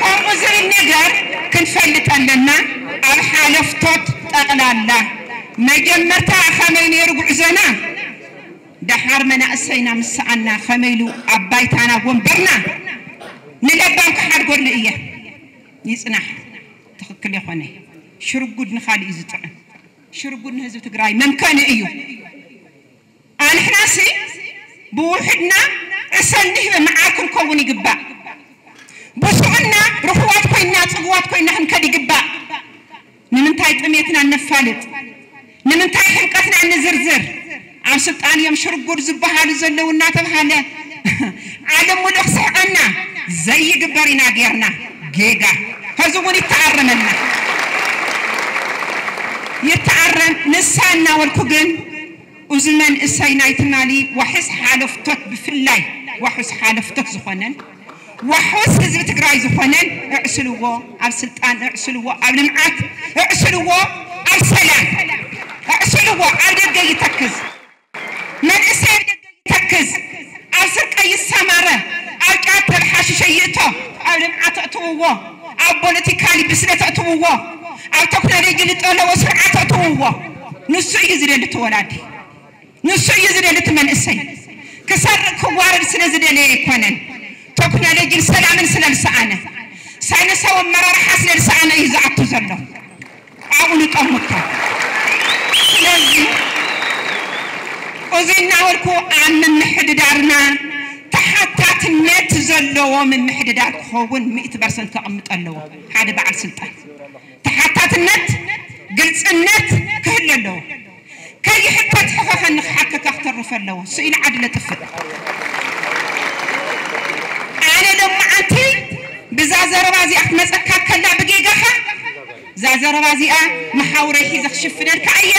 ከምኡ ዝብል ነገር ክንፈልጥ ኣለና። ኣብ ሓለፍቶት ጠቕላላ መጀመርታ ከመይ ነይሩ ጉዕዞና፣ ደሓር መናእሰይና ምስ ሰኣና ከመይ ኢሉ ኣብ ባይታና ወንበርና ንለባም ክሓድገሉ እየ። ይጽናሕ፣ ትኽክል የኾነ። ሽርጉድ ንኻልእ እዩ ዝጥዕም። ሽርጉድ ንህዝቢ ትግራይ መምከኒ እዩ። ኣንሕናሲ ብውሕድና ዕሰል ንህበ መዓር ክንከውን ይግባእ። ብስዑና ርኹባት ኮይንና፣ ጽጉባት ኮይንና ክንከድ ይግባእ። ንምንታይ ጥሜትና እነፋልጥ? ንምንታይ ሕምቀትና እንዝርዝር? ኣብ ስልጣን እዮም ሽርጉድ ዝበሃሉ ዘለዉ እናተብሃለ ዓለም ሙሉእ ክስሕቐና ዘይግበር ኢና ጌርና። ጌጋ። ሕዚ እውን ይተኣረመልና። ይተኣረም። ንሳ እናበልኩ ግን፣ እዚ መንእሰይ ናይ ትማሊ ዋሕስ ሓለፍቶት፣ ብፍላይ ዋሕስ ሓለፍቶት ዝኾነን፣ ዋሕስ ህዝቢ ትግራይ ዝኾነን፣ እዕስልዎ፣ ኣብ ስልጣን እዕስልዎ፣ ኣብ ልምዓት እዕስልዎ፣ ኣብ ሰላም እዕስልዎ። ኣብ ደገ ይተክዝ፣ መንእሰይ ኣብ ደገ ይተክዝ፣ ኣብ ስርቀ ይሰማረ፣ ኣብ ጫት ኣብ ሓሽሸ ይእቶ፣ ኣብ ልምዓት እትውዎ፣ ኣብ ፖለቲካሊ ብስለት እትውዎ፣ ኣብ ቴክኖሎጂ ዝጠለቦ ስርዓት እትውዎ። ንሱ እዩ ዝደሊ እቲ ወላዲ። ንሱ እዩ ዝደሊ እቲ መንእሰይ። ክሰርቕ ክዋረድ ስለ ዝደለየ ኣይኮነን። ቴክኖሎጂን ሰላምን ስለ ዝሰኣነ፣ ሳይንሳዊ ኣመራርሓ ስለ ዝሰኣነ እዩ ዝኣቱ ዘሎ። ኣብኡ ንጠምቶ። ስለዚ እዚ እናበልኩ ኣብ ምምሕድዳርና ተሓታትነት ዘለዎ ምምሕድዳር ክኸውን ሚእቲ ፐርሰንት ከቕምጥ ኣለዎ ሓደ በዓል ስልጣን። ተሓታትነት፣ ግልፅነት ክህሉ ኣለዎ። ከይሕተት ሕኸኸኒ ክሓከካ ክተርፍ ኣለዎ። ስኢሉ ዓዲ ለጥፍእ። ኣነ ሎማዓንቲ ብዛ ዘረባ እዚኣ ክትመፀካ ከላ ብጌጋኻ፣ እዛ ዘረባ እዚኣ መሓውረይ ሒዘ ክሽፍነልካ እየ።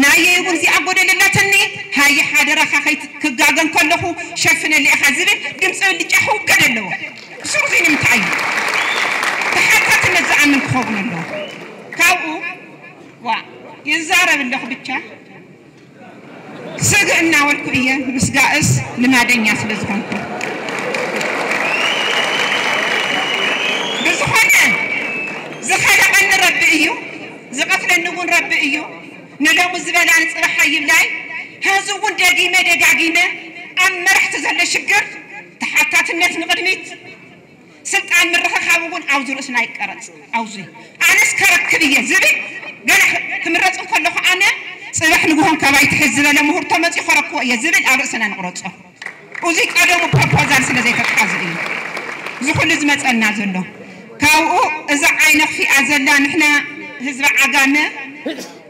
ናየይ እውን እዚኣ ጎደል ኣላትኒ፣ ሃየ ሓደራኻ ከይት-፣ ክጋገ እንከለኹ ሸፍነለይ ኢኻ ዝብል ድምፂ ብልጫ ክውገድ ኣለዎ። ስሩዚ ንምንታይ እዩ? ተሓታትነት ዝኣምን ክኸውን ኣለዎ። ካብኡ፣ ዋ፣ ይዛረብ ኣለኹ ብቻ። ስግ እናበልኩ እየ ምስጋእስ ልማደኛ ስለ ዝኾንኩ። ብዝኾነ፣ ዝኸለቐኒ ረቢ እዩ፣ ዝቐትለኒ እውን ረቢ እዩ። ንሎሚ ዝበላኒ ጽባሕ ኣይብላይ። ሕዚ እውን ደጊመ ደጋጊመ ኣብ መራሕቲ ዘሎ ሽግር ተሓታትነት ንቕድሚት፣ ስልጣን ምርኽኻብ እውን ኣብዚ ርእስና ይቀረጽ። ኣብዚ ኣነስ ከረክብ እየ ዝብል፣ ገና ክምረጽ እንከለኹ ኣነ ጽባሕ ንግሆ እንካባይ ትሕዝ ዝበለ ምሁር ተመጺኡ ከረክቦ እየ ዝብል ኣብ ርእስና ንቕረጾ። እዚ ቀደሙ ፕሮፖዛል ስለ ዘይተትሓዘ እዩ እዚ ኩሉ ዝመጸና ዘሎ። ካብኡ እዛ ዓይነ ክፊኣ ዘላ ንሕና ህዝቢ ዓጋመ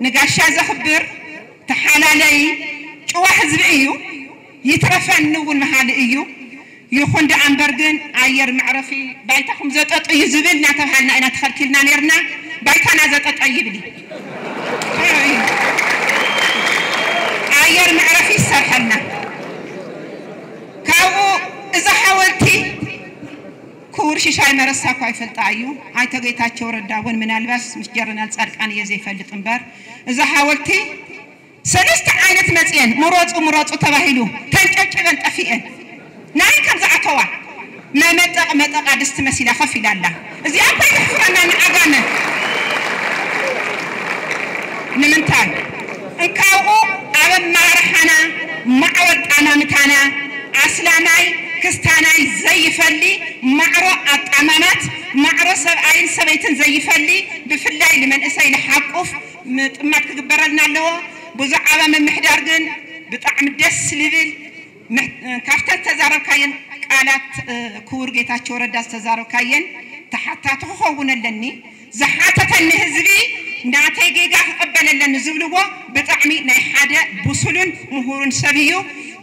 ንጋሻ ዘኽብር ተሓላለይ ጭዋ ህዝቢ እዩ። ይትረፈኒ እውን መሃሊ እዩ። ይኹን ደኣ እምበር ግን ኣየር መዕረፊ ባይታኹም ዘጠጥ እዩ ዝብል እናተብሃልና ኢና ተኸልኪልና ነይርና። ባይታና ዘጠጠ ይብል እዩ። ኣየር መዕረፊ ይሰርሐልና። ካብኡ እዛ ሓወልቲ ክቡር ሽሻይ መረሳ እኳ ይፈልጣ እዩ። ኣይተ ጌታቸው ረዳ እውን ምናልባስ ምስ ጀረናል ጻድቃን እየ ዘይፈልጥ እምበር እዛ ሓወልቲ ሰለስተ ዓይነት መፅየን ምረፁ ምረፁ ተባሂሉ ተንጨብጭበን ጠፊኤን። ናይ ከም ዝኣተዋ መመጠቕ መጠቓ ድስቲ መሲላ ከፍ ኢላ ኣላ። እዚኣ እኮ ይሕፍረና ንዓጋመ። ንምንታይ? እንካብኡ ኣብ ኣመራርሓና ማዕሮ ኣጣማምታና ኣስላማይ ክስታናይ ዘይፈሊ፣ ማዕሮ ኣጣማማት፣ ማዕሮ ሰብኣይን ሰበይትን ዘይፈሊ፣ ብፍላይ ንመንእሰይ ንሓቁፍ ምጥማት ክግበረልና ኣለዎ። ብዛዕባ ምምሕዳር ግን ብጣዕሚ ደስ ልብል ምሕ- ካብተን ዝተዛረብካየን ቃላት፣ እ፣ ክቡር ጌታቸው ረዳ ዝተዛረብካየን ተሓታቲ ክኸውን ኣለኒ። ዝሓተተኒ ህዝቢ ናተይ ጌጋ ክቕበል ኣለኒ ዝብልዎ ብጣዕሚ ናይ ሓደ ብሱሉን ምሁሩን ሰብ እዩ።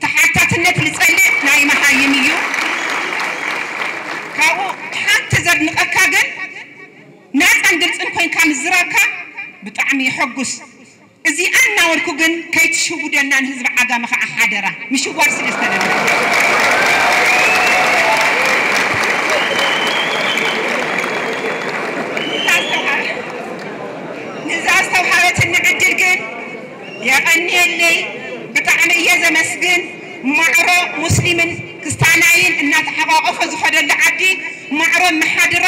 ተሓታትነት ዝጸልእ ናይ መሃይም እዩ። ካብኡ ሓንቲ ዘድንቐካ ግን ናጻን ግልጽን ኮይንካ ምዝራብካ ብጣዕሚ የሐጉስ። እዚኣ እናበልኩ ግን ከይትሽውደልና ንህዝቢ ዓጋመ ከዓ ሓደራ፣ ምሽዋድ ስለ ዝተደለ። ንዛ ዝተውሃበትኒ ዕድል ግን የቐንየለይ፣ ብጣዕሚ እየ ዘመስግን። ማዕሮ ሙስሊምን ክስታናይን እናተሓቋቆፈ ዝኸደሉ ዓዲ ማዕሮ መሓድራ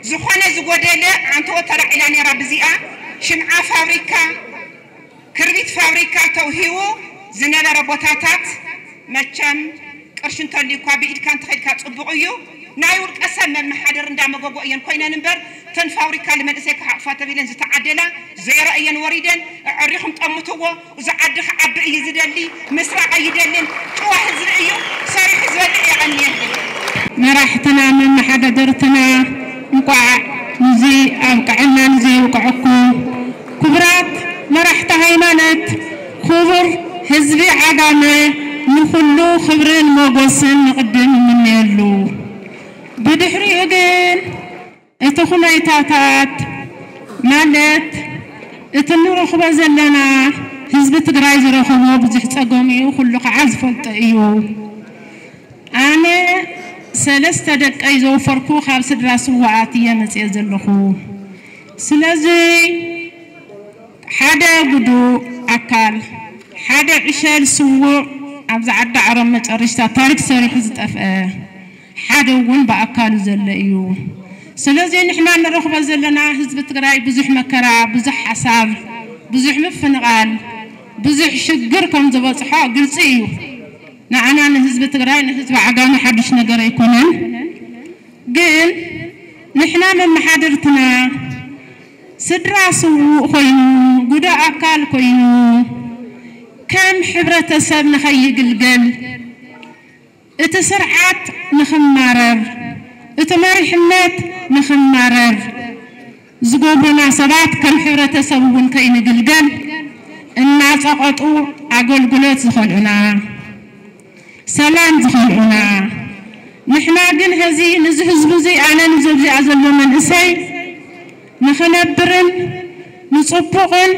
ዝኾነ ዝጎደለ ኣንተኦ ተላዒላ ነይራ። ብዚኣ ሽምዓ ፋብሪካ፣ ክርቢት ፋብሪካ ተውሂቡ ዝነበረ ቦታታት መቸም ቅርሺ እንተልዩ እኳ ብኢድካ እንተኸድካ ጽቡቕ እዩ። ናይ ውልቀ ሰብ መመሓደር እንዳመጎጎ እየን ኮይነን እምበር ተን ፋብሪካ ንመንእሰይ ክሓቑፋ ተቢለን ዝተዓደላ ዜሮ እየን ወሪደን። ኣዕሪኹም ጠምትዎ። እዚ ዓዲ ክዓቢ እዩ ዝደሊ፣ ምስራቕ ኣይደልን። ጭዋ ህዝቢ እዩ፣ ሰሪሑ ዝበልዕ። የቐንየለይ። መራሕትና መመሓዳድርትና እንቋዕ ንዚ ኣብቅዐና ንዚ ይብቅዐኩም። ክቡራት መራሕቲ ሃይማኖት፣ ክቡር ህዝቢ ዓጋመ፣ ንኹሉ ክብርን ሞጎስን ንቕድም እምነየሉ። ብድሕሪኡ ግን እቲ ኩነታታት ማለት እቲ ንረኽቦ ዘለና ህዝቢ ትግራይ ዝረኸቦ ብዙሕ ፀገም እዩ፣ ኩሉ ከዓ ዝፈልጦ እዩ። ኣነ ሰለስተ ደቀይ ዘውፈርኩ ካብ ስድራ ስውኣት እየ መፅየ ዘለኹ። ስለዚ ሓደ ጉዱእ ኣካል፣ ሓደ ዕሸል ስዉእ ኣብዚ ዓዲ ዓረብ መጨረሽታ ታሪክ ሰሪሑ ዝጠፍአ፣ ሓደ እውን ብኣካሉ ዘሎ እዩ። ስለዚ ንሕና ንረኽቦ ዘለና ህዝቢ ትግራይ ብዙሕ መከራ፣ ብዙሕ ሓሳር፣ ብዙሕ ምፍንቓል፣ ብዙሕ ሽግር ከም ዝበፅሖ ግልፂ እዩ። ንዓና ንህዝቢ ትግራይ፣ ንህዝቢ ዓጋመ ሓዱሽ ነገር ኣይኮነን። ግን ንሕና መመሓደርትና ስድራ ስዉእ ኮይኑ፣ ጉዱእ ኣካል ኮይኑ፣ ከም ሕብረተሰብ ንኸይግልገል፣ እቲ ስርዓት ንኽማረር፣ እቲ መሪሕነት ንኽማረር ዝገብሩና ሰባት ከም ሕብረተሰብ እውን ከይንግልገል እናፀቐጡ ኣገልግሎት ዝኸልኡና፣ ሰላም ዝኸልኡና፣ ንሕና ግን ሀዚ ንዚ ህዝቢ እዚ ኣነ ንዚ ኣብዚኣ ዘሎ መንእሰይ ንኽነብርን ንፅቡቕን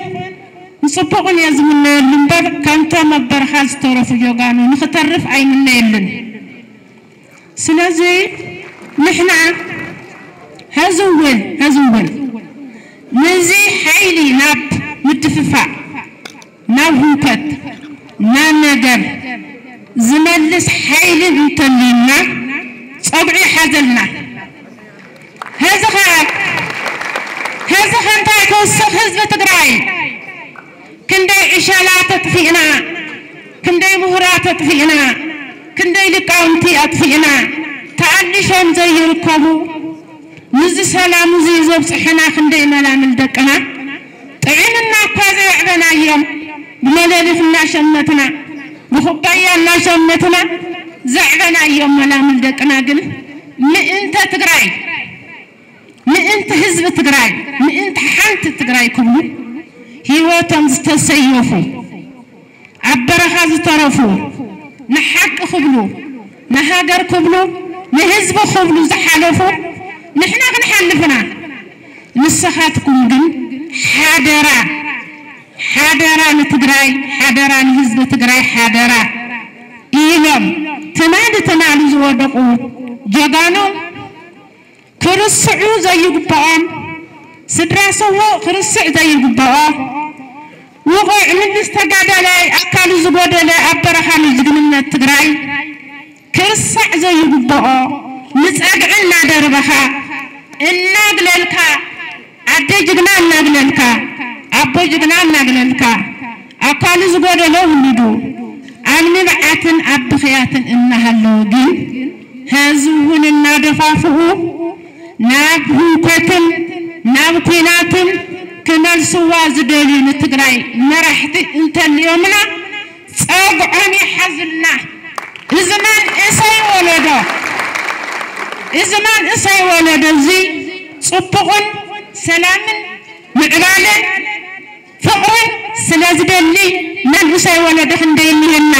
ንፅቡቕን እየ ዝምነየሉ እምበር ከምቶም ኣብ በረኻ ዝተረፉ ጀጋኑ ንኽተርፍ ኣይምነየሉን። ስለዚ ንሕና ሀዚ እውን ሀዚ እውን ነዚ ሓይሊ ናብ ምድፍፋእ፣ ናብ ህውከት፣ ናብ ነገር ዝመልስ ሓይሊ እንተልዩና ፀጉዒ ይሓዘልና። ሀዚ ኸ ሀዚ ኸ እንታይ ክውስኽ ህዝቢ ትግራይ? ክንደይ ዕሸላት ኣጥፊእና፣ ክንደይ ምሁራት ኣጥፊእና፣ ክንደይ ሊቃውንቲ ኣጥፊእና፣ ተኣሊሾም ዘይርከቡ፣ ንዚ ሰላም እዚ ዘብፅሑና ክንደይ መላምል ደቅና ጥዒምና እኳ ዘየዕበናዮም፣ ብመለሊኽ እናሸመትና፣ ብኩባያ እናሸመትና ዘዕበናዮም መላምል ደቅና ግን ምእንተ ትግራይ፣ ምእንቲ ህዝቢ ትግራይ፣ ምእንቲ ሓንቲ ትግራይ ክብሉ ህይወቶም ዝተሰየፉ፣ ኣብ በረኻ ዝተረፉ፣ ንሓቂ ክብሉ፣ ንሃገር ክብሉ፣ ንህዝቢ ክብሉ ዝሓለፉ ንሕና ክንሓልፍና። ንስኻትኩም ግን ሓደራ፣ ሓደራ ንትግራይ፣ ሓደራ ንህዝቢ ትግራይ፣ ሓደራ ኢሎም ትማሊ ትማሊ ዝወደቑ ጀጋኑ ክርስዑ ዘይግብኦም፣ ስድራ ስዉእ ክርስዕ ዘይግብኦ፣ ውቑዕ ምልስ ተጋዳላይ ኣካሉ ዝጎደለ ኣብ በረኻ ንጅግንነት ትግራይ ክርሳዕ ዘይግብኦ ንጸግዒ እናደርበኻ እናግለልካ ኣደ ጅግና እናግለልካ ኣቦ ጅግና እናግለልካ ኣካሉ ዝጎደሎ ውሉዱ ኣብ ንብዓትን ኣብ ብኽያትን እናሃለወ ግን ሐዚ እውን እናደፋፍኡ ናብ ህውከትን ናብ ኲናትን ክመልስዋ ዝደልዩ ንትግራይ መራሕቲ እንተልዮምና ጸግዖም ይሓዙልና። እዚ መንእሰይ ወለዶ እዚ መንእሰይ ወለዶ እዚ ጽቡቕን ሰላምን ምዕባለን ፍቕርን ስለ ዝደሊ መንእሰይ ወለዶ ክንደይ እኒሀና።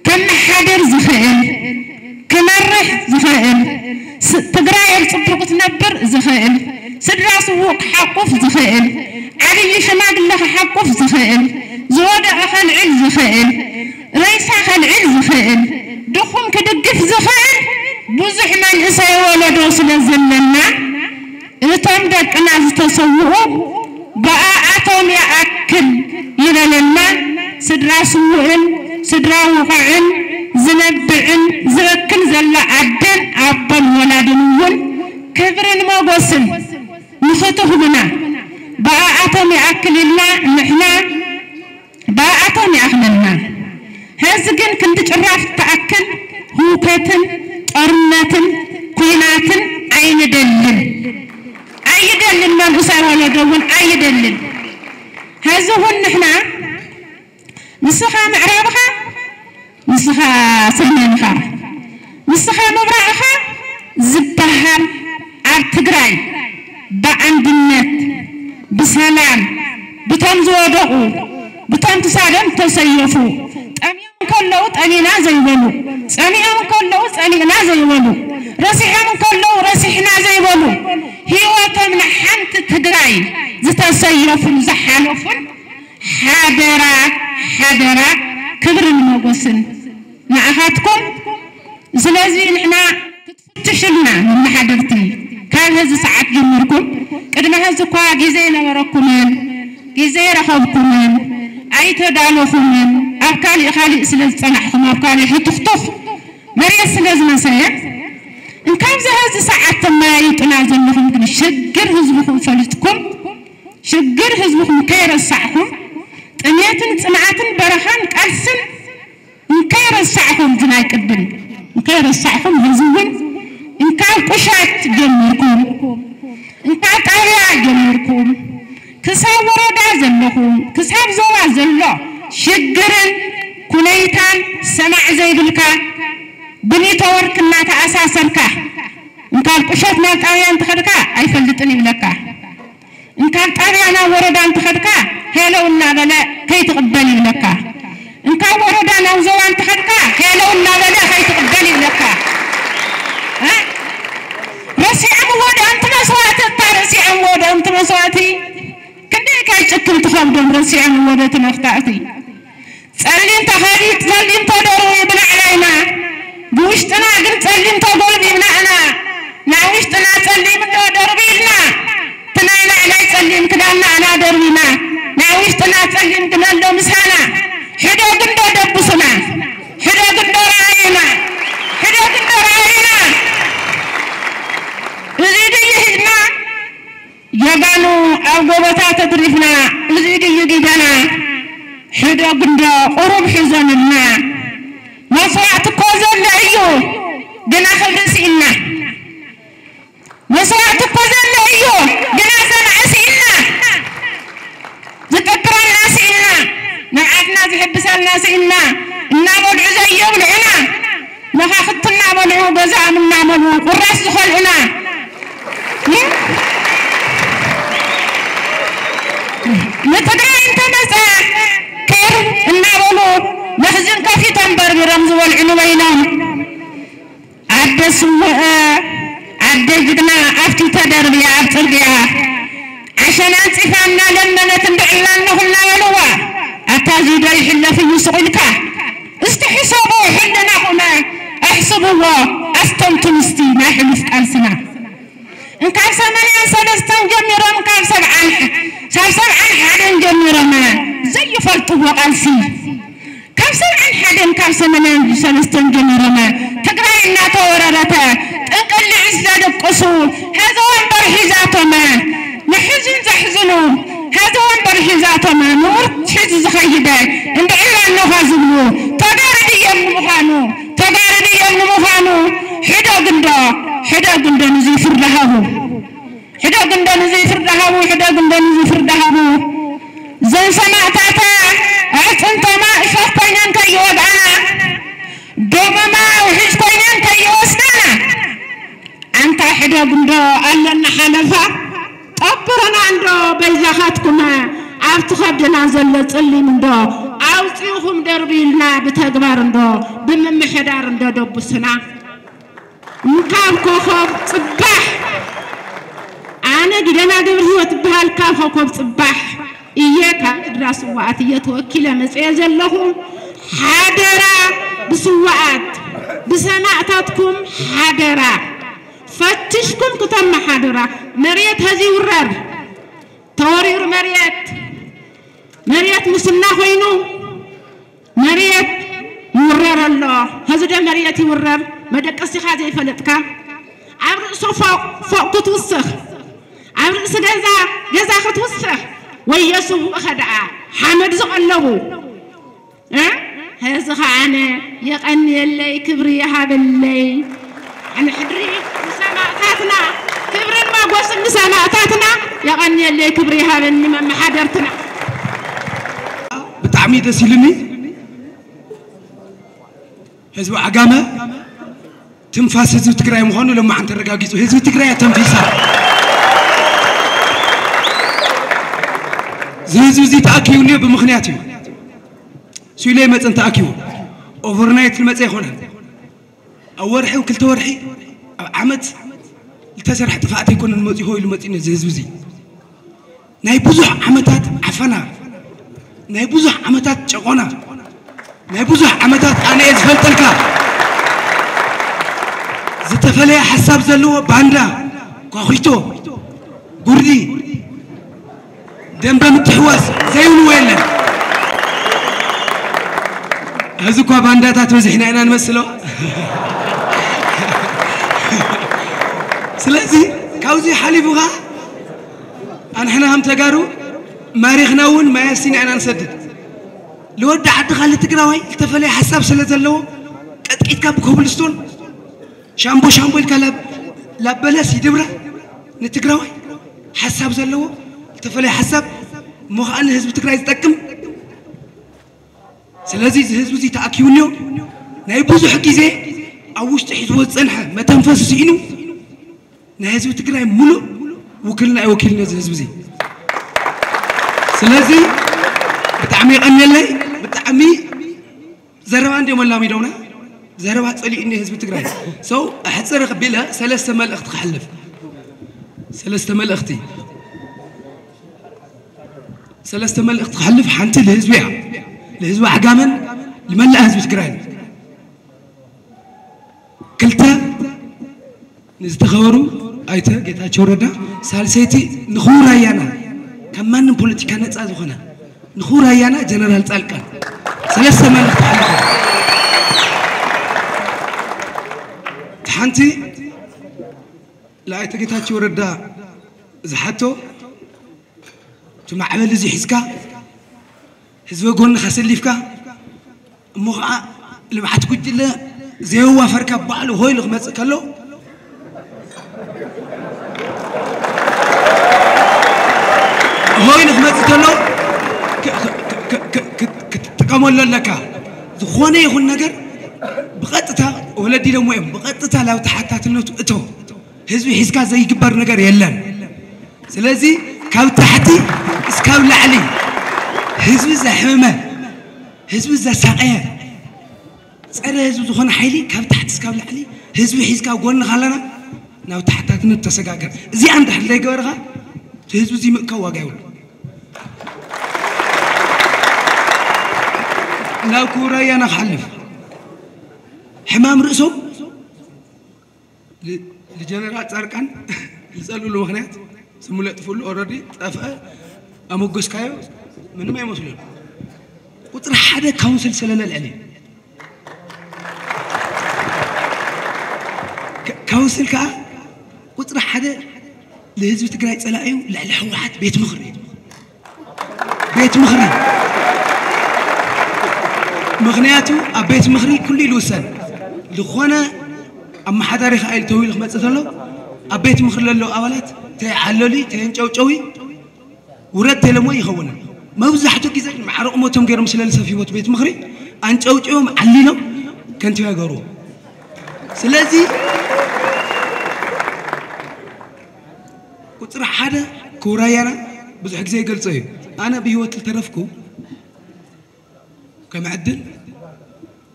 ከመሓድር ዝኽእል ክመርሕ ዝኽእል ትግራይ ኣብ ፅቡቕ ክትነብር ዝኽእል ስድራ ስዉእ ክሓቁፍ ዝኽእል ዓብዪ ሽማግለ ክሓቁፍ ዝኽእል ዝወደቐ ከልዕል ዝኽእል ሬሳ ከልዕል ዝኽእል ድኹም ክድግፍ ዝኽእል ብዙሕ መንእሰይ ወለዶ ስለ ዘለና እቶም ደቅና ዝተሰውኡ ብኣኣቶም ይኣክል ይበለና ስድራ ስዉእን ስድራ ውቑዕን ዝነብዕን ዝበክን ዘላ ኣደን ኣቦን ወላድን እውን ክብርን ሞጎስን ንኽትህቡና ብኣኣቶም ይኣክል ኢልና ንሕና ብኣኣቶም ይኣኽለልና። ሐዚ ግን ክንዲ ጭራፍ ትኣክል ህውከትን ጦርነትን ኲናትን ኣይንደልን ኣይደልን መንእሰይ ወለዶ እውን ኣይደልን። ሐዚ እውን ንሕና ንስኻ ምዕራብኻ ንስኻ ሰሜንኻ ንስኻ ምብራቕኻ ዝበሃል ኣብ ትግራይ ብኣንድነት ብሰላም ብቶም ዝወደቑ ብቶም ክሳዶም ዝተሰየፉ ጠምዮም ከለዉ ጠሚና ዘይበሉ ጸሚኦም ከለዉ ጸሚእና ዘይበሉ ረሲሖም ከለዉ ረሲሕና ዘይበሉ ህይወቶም ንሓንቲ ትግራይ ዝተሰየፉን ዝሓለፉን ሓደራ ሓደራ ክብርን ሞጎስን ንኣኻትኩም ስለዚ ንሕና ክትፍትሽልና መመሓደርቲ ካብ ህዚ ሰዓት ጀሚርኩም ቅድሚ ህዚ እኳ ግዜ ይነበረኩምን ግዜ ይረኸብኩምን ኣይተዳለኹምን ኣብ ካሊእ ካሊእ ስለ ዝፀናሕኹም ኣብ ካሊእ ህቱኽቱኽ መሬት ስለ ዝመሰየ እንካብዚ ህዚ ሰዓት ተመያይጡና ዘለኹም ግን ሽግር ህዝብኹም ፈሊጥኩም ሽግር ህዝብኹም ከይረሳዕኹም ጥሜትን ፅምኣትን በረኻን ቃልስን እንከይረሳዕኹም ዝናይ ቅድም እንከይረሳዕኹም ሕዚ እውን እንካብ ቁሸት ጀሚርኩም እንካብ ጣብያ ጀሚርኩም ክሳብ ወረዳ ዘለኹም ክሳብ ዞባ ዘሎ ሽግርን ኩነይታን ሰማዕ ዘይብልካ ብኔትወርክ እናተኣሳሰርካ እንካብ ቁሸት ናብ ጣብያ እንተኸድካ ኣይፈልጥን ይብለካ እንካብ ጣብያ ናብ ወረዳ እንተኸድካ ሄለው እናበለ ከይትቕበል ይብለካ። እንካብ ወረዳ ናብ ዞባ እንተኸድካ ሄለው እናበለ ከይትቕበል ይብለካ። ረሲዖምዎ ዶ ኣንቲ መስዋእቲ እታ ረሲዖምዎ ዶ ኣንቲ መስዋእቲ ክንደይ ካይ ጭክን ትኸብዶም ረሲዖምዎ ዶ እቲ መፍታእቲ ጸሊም ተኸዲ ጸሊም ተደርቡ ይብላዕና ኢና ብውሽጥና ግን ጸሊም ተጎልቢብና ኢና ናብ ውሽጥና ጸሊም እንዶ ደርቢልና እቲ ናይ ላዕላይ ጸሊም ክዳንና ኢና ደርቢና ናብ ውሽጥና ጸሊም ግመሎ ምሳና ሕደግ እንዶ ደብሱና ሕደግ እንዶ ረኣዩና ሕደግ እንዶ ረኣዩና እዚ ድዩ ህዝብና ጀጋኑ ኣብ ጎቦታት ኣትሪፍና እዚ ድዩ ጊደና ሕደግ እንዶ ቁሩብ ሕዘንልና መስዋእቲ እኮ ዘሎ እዩ ግና ክብሪ ስኢንና መስዋእቲ እኮ ዘሎ እዩ ግና ሰማዒ ስኢንና ዝጥብረና ስኢንና ንብዓትና ዝሕብሰልና ስኢንና እናበልዑ ዘየብልዑና መኻኽቲ እናበልዑ ገዛኦም እናመልኡ ቁራስ ዝኸልኡና ንትግራይ እንተመፀ ክር እናበሉ መኽዝን ከፊቶም በርቢሮም ዝበልዑ ንበይኖም ኣደ ስውእ ኣደ ጅግና ኣብቲ ተደርብያ ኣብ ፅርግያ ዓሸና ኣንፂፋ እናለመነት እንድዕላ ኣለኹ እናበልዋ ኣታ እዚ ዶ ይሕለፍ እዩ ስቕ ኢልካ እስቲ ሕሰቡ ሕልናኹም ኣሕስብዎ ኣስተንትኑ እስቲ ናይ ሕሉፍ ቃልስና እንካብ ሰማንያን ሰለስተን ጀሚሮም ካብ ሰብዓን ካብ ሰብዓን ሓደን ጀሚሮመ ዘይፈልጥዎ ቃልሲ ካብ ሰብዓን ሓደን ካብ ሰማንያን ሰለስተን ጀሚሮመ ትግራይ እናተወረረተ ጥንቅልዒ ዝደቅሱ ሀዘ ወንበር ሒዛቶመ ንሕዝን ዘሕዝኑ ሀዘ ወንበር ሒዛቶመ ምውርት ሒዙ ዝኸይደ እንድዒ ራኖኻ ዝብሉ ተጋሩ ድዮም ንምዃኑ ተጋሩ ድዮም ንምዃኑ ሕደጉ እንዶ ሕደጉ እንዶ ንዙይ ፍርዲ ሃቡ። ሕደግ እንዶ ንዙይ ፍርዲ ሃቡ፣ ሕደግ እንዶ ንዙይ ፍርዲ ሃቡ። እዘን ሰማእታታ ኣዕፅምቶማ እሾኽ ኮይነን ከይወግኣና፣ ደሞማ ውሕጅ ኮይነን ከይወስዳና፣ ኣንታ ሕደግ እንዶ ኣለና ሓለፋ። ጠብሩና እንዶ በይዛኻትኩም ኣብቲ ከብድና ዘሎ ፅሊም እንዶ ኣውፂእኹም ደርብዩልና ብተግባር እንዶ ብምምሕዳር እንዶ ደቡስና። ካብ ኮኾብ ፅባሕ ኣነ ጊደና ገብረ ህይወት እበሃል ካብ ኮኮብ ፅባሕ እየ ካብ ምድራ ስዋኣት እየ ተወኪለ መፅየ ዘለኹ ሓደራ ብስዋኣት ብሰማእታትኩም ሓደራ ፈትሽኩም ክተመሓድራ መሬት ሀዚ ይውረር ተወሪሩ መሬት መሬት ሙስና ኮይኑ መሬት ይውረር ኣሎ። ሀዚ ዶ መሬት ይውረር? መደቀሲኻ ዘይፈለጥካ ኣብ ርእሱ ፎቕ ፎቕ ክትውስኽ ኣብ ርእሲ ገዛ ገዛ ክትውስኽ ወዮ ስውእኸ ደኣ ሓመድ ዝቐለቡ እ? ሀዚ ኸዓነ የቐንየለይ ክብሪ ይሃበለይ። ንሕድሪ ንሰማእታትና ክብርን ሞጎስን ንሰማእታትና የቐንየለይ ክብሪ ይሃበኒ መመሓደርትና። ብጣዕሚ ደስ ኢሉኒ። ህዝቢ ዓጋመ ትንፋስ ህዝቢ ትግራይ ምዃኑ ለማዓን ተረጋጊፁ። ህዝቢ ትግራይ ተንፊሳ። እዚ ህዝቢ እዚ ተኣኪቡ እኒኦ ብምኽንያት እዩ። ስኢሉ ኣይመፀን ተኣኪቡ። ኦቨርናይት ዝመፀ ኣይኮነን። ኣብ ወርሒ፣ ኣብ ክልተ ወርሒ፣ ኣብ ዓመት ዝተሰርሐ ጥፍኣት ኣይኮነን መፂኡ ኢሉ መፂኡ እዚ ህዝቢ እዚ። ናይ ብዙሕ ዓመታት ዓፈና፣ ናይ ብዙሕ ዓመታት ጨቖና፣ ናይ ብዙሕ ዓመታት ኣነ እየ ዝፈልጠልካ ዝተፈለየ ሓሳብ ዘለዎ ባንዳ፣ ኳኺቶ፣ ጉርዲ፣ ደንበ ምትሕዋስ ዘይብልዎ የለን። ሕዚ እኳ ባንዳታት በዚሕና ኢና ንመስሎ። ስለዚ ካብዚ ሓሊፉ ኸዓ ኣንሕና ከም ተጋሩ ማሪኽና እውን ማይ ኣስቲና ኢና ንሰድድ። ልወዲ ዓድኻ ልትግራዋይ ዝተፈለየ ሓሳብ ስለ ዘለዎ ቀጥቂጥካ ብኮብልስቶን ሻምቦ ሻምቦ ኢልካ ላብ- ላበለስ ይድብራ ንትግራዋይ ሓሳብ ዘለዎ ዝተፈለየ ሓሳብ እሞ ከዓ ንህዝቢ ትግራይ ዝጠቅም ስለዚ እዚ ህዝቢ እዚ ተኣኪቡ እኒኦ ናይ ብዙሕ ግዜ ኣብ ውሽጢ ሒዝዎ ዝፀንሐ መተንፈሲ ስኢኑ ናይ ህዝቢ ትግራይ ሙሉእ ውክልና እዩ ወኪልኒ እዚ ህዝቢ እዚ። ስለዚ ብጣዕሚ የቐንየለይ። ብጣዕሚ ዘረባ እንዲኦም ኣላሚዶምና ዘረባ ፀሊኡ እኒ ህዝቢ ትግራይ ሰው ኣሕፅር ቢለ ሰለስተ መልእኽቲ ክሓልፍ ሰለስተ መልእኽቲ ሰለስተ መልእኽቲ ክሓልፍ ሓንቲ ልህዝቢ እያ ልህዝቢ ዓጋመን ልመላእ ህዝቢ ትግራይ ክልተ ንዝተኸበሩ ኣይተ ጌታቸው ረዳ ሳልሰይቲ ንኽቡር ኣያና ካብ ማንም ፖለቲካ ነፃ ዝኾነ ንኽቡር ኣያና ጀነራል ፃልቃን ሰለስተ መልእኽቲ ሓልፈ እቲ ሓንቲ ለኣይተ ጌታቸው ረዳ ዝሓቶ እቲ ማዕበል እዚ ሒዝካ ህዝበ ጎንኻ ሰሊፍካ እሞ ከዓ ልምዓት ጉጅለ ዘየዋፈርካ ባዕሉ ሆይሉ ክመፅእ ከሎ ሆይሉ ክመፅእ ከሎ ክትጥቀመሉ ኣለካ። ዝኾነ ይኹን ነገር ብቐጥታ ወለዲ ኢሎሞ እዮም ብቐጥታ ላብ ተሓታትነቱ እቶ ህዝቢ ሒዝካ ዘይግበር ነገር የለን። ስለዚ ካብ ታሕቲ እስካብ ላዕሊ ህዝቢ ዘሕመመ፣ ህዝቢ ዘሳቀየ፣ ፀረ ህዝቢ ዝኾነ ሓይሊ ካብ ታሕቲ እስካብ ላዕሊ ህዝቢ ሒዝካ ጎንኻ ኣለና ናብ ተሓታትነት ተሰጋገር። እዚኣ እንድሕር ዘይገበርኻ እቲ ህዝቢ እዚ ምእካብ ዋጋ የብሉ። ናብ ክቡር ኣያና ክሓልፍ ሕማም ርእሶም ልጀነራል ፃድቃን ዝፀልእሉ ምክንያት ስሙ ለጥፍሉ ኦረዲ ጠፍአ ኣመጎስካዮ ምንም ኣይመስሉን። ቁፅሪ ሓደ ካውንስል ስለለ ልዕሊ ካውንስል ከዓ ቁፅሪ ሓደ ንህዝቢ ትግራይ ፀላእዩ ልዕሊ ህወሓት ቤት ምኽሪ ቤት ምኽሪ ምክንያቱ ኣብ ቤት ምኽሪ ኩሉ ይልውሰን ዝኾነ ኣመሓዳሪ ከዓ ኢሉ ተዊሉ ክመፅእ ተሎ ኣብ ቤት ምኽሪ ለለዉ ኣባላት ተይዓለሉ ተየንጨውጨዊ ውረድ ተለሞ ይኸውን መብዛሕትኡ ግዜ ማዕረ ቁመቶም ገይሮም ስለ ዝሰፍይዎ ቤት ምኽሪ ኣንጨውጭዎም ዓሊሎም ከንቲባ ይገብርዎ ስለዚ ቁፅሪ ሓደ ክውራያና ብዙሕ ግዜ ይገልፆ እዩ ኣነ ብህይወት ዝተረፍኩ ከም ዕድል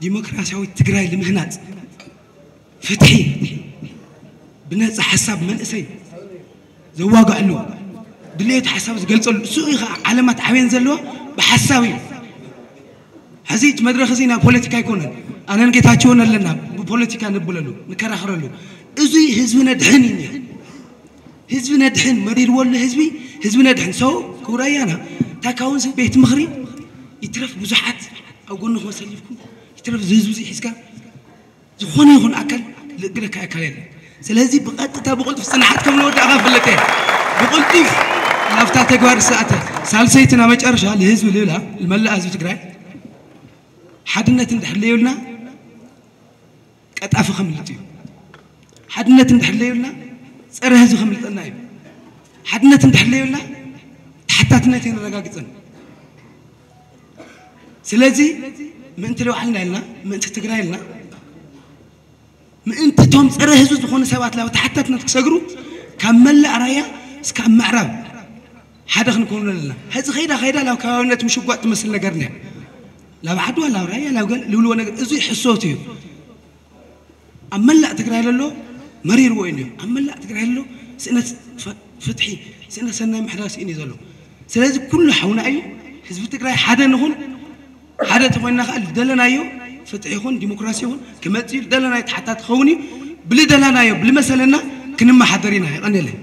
ዲሞክራሲያዊት ትግራይ ልምህናፅ ፍትሒ ብነፃ ሓሳብ መንእሰይ ዘዋግዐሉ ድሌት ሓሳብ ዝገልፀሉ እሱ እዩ ከዓ ዓለማት ዓብየን ዘለዎ ብሓሳብ እዩ ሕዚ እቲ መድረክ እዚ ናይ ፖለቲካ ኣይኮነን ኣነን ጌታቸውን ኣለና ብፖለቲካ ንብለሉ ንከራኸረሉ እዙ ህዝቢ ነድሕን እዩ ህዝቢ ነድሕን መሪርዎ ኣሎ ህዝቢ ህዝቢ ነድሕን ሰው ክውራያና እታ ካውንስል ቤት ምኽሪ ይትረፍ ብዙሓት ኣብ ጎንኹም ኣሰሊፍኩም ይትረፍ ዝህዝቢ ሒዝካ ዝኾነ ይኹን ኣካል ልእግደካ ኣካል የለን ስለዚ ብቐጥታ ብቕልጡፍ ፅንሓት ከም ንወዳእኻ ፍለጥ እየ ብቕልጡፍ ናብታ ተግባር ዝሰኣተ ሳልሰይትና መጨረሻ ንህዝቢ ልብላ ንመላእ ህዝቢ ትግራይ ሓድነት እንድሕር ለየብልና ቀጣፊ ከምልጥ እዩ ሓድነት እንድሕር ለየብልና ፀረ ህዝቢ ከምልጠና እዩ ሓድነት እንድሕር ለየብልና ተሓታትነት የነረጋግፅን ስለዚ ምእንቲ ለባዕልና ኢልና ምእንቲ ትግራይ ኢልና ምእንቲ እቶም ፀረ ህዝቢ ዝኾኑ ሰባት ላብ ተሓታትነት ክሰግሩ ካብ መላእ ራያ እስካብ ምዕራብ ሓደ ክንከውኑ ኣለና ሕዚ ከይዳ ከይዳ ላብ ከባብነት ምሽጓጥ ትመስል ነገር ኒያ ላብ ዓድዋ ላብ ራያ ላብ ገል ልብልዎ ነገር እዚ ሕሶት እዩ ኣብ መላእ ትግራይ ለሎ መሪርዎ እዩ ኣብ መላእ ትግራይ ለሎ ስእነት ፍትሒ ስእነት ሰናይ ምሕዳር ስኢን እዩ ዘሎ ስለዚ ኩሉ ሓውና እዩ ህዝቢ ትግራይ ሓደ ንኹን ሓደ ተኾይንና ከዓ ዝደለናዮ ፍትሒ ይኹን ዲሞክራሲ ይኹን ክመፅእ እዩ ዝደለናዮ ተሓታት ክኸውን እዩ ብልደለናዮ ብልመሰለና ክንመሓደር ኢና ይቐንየለይ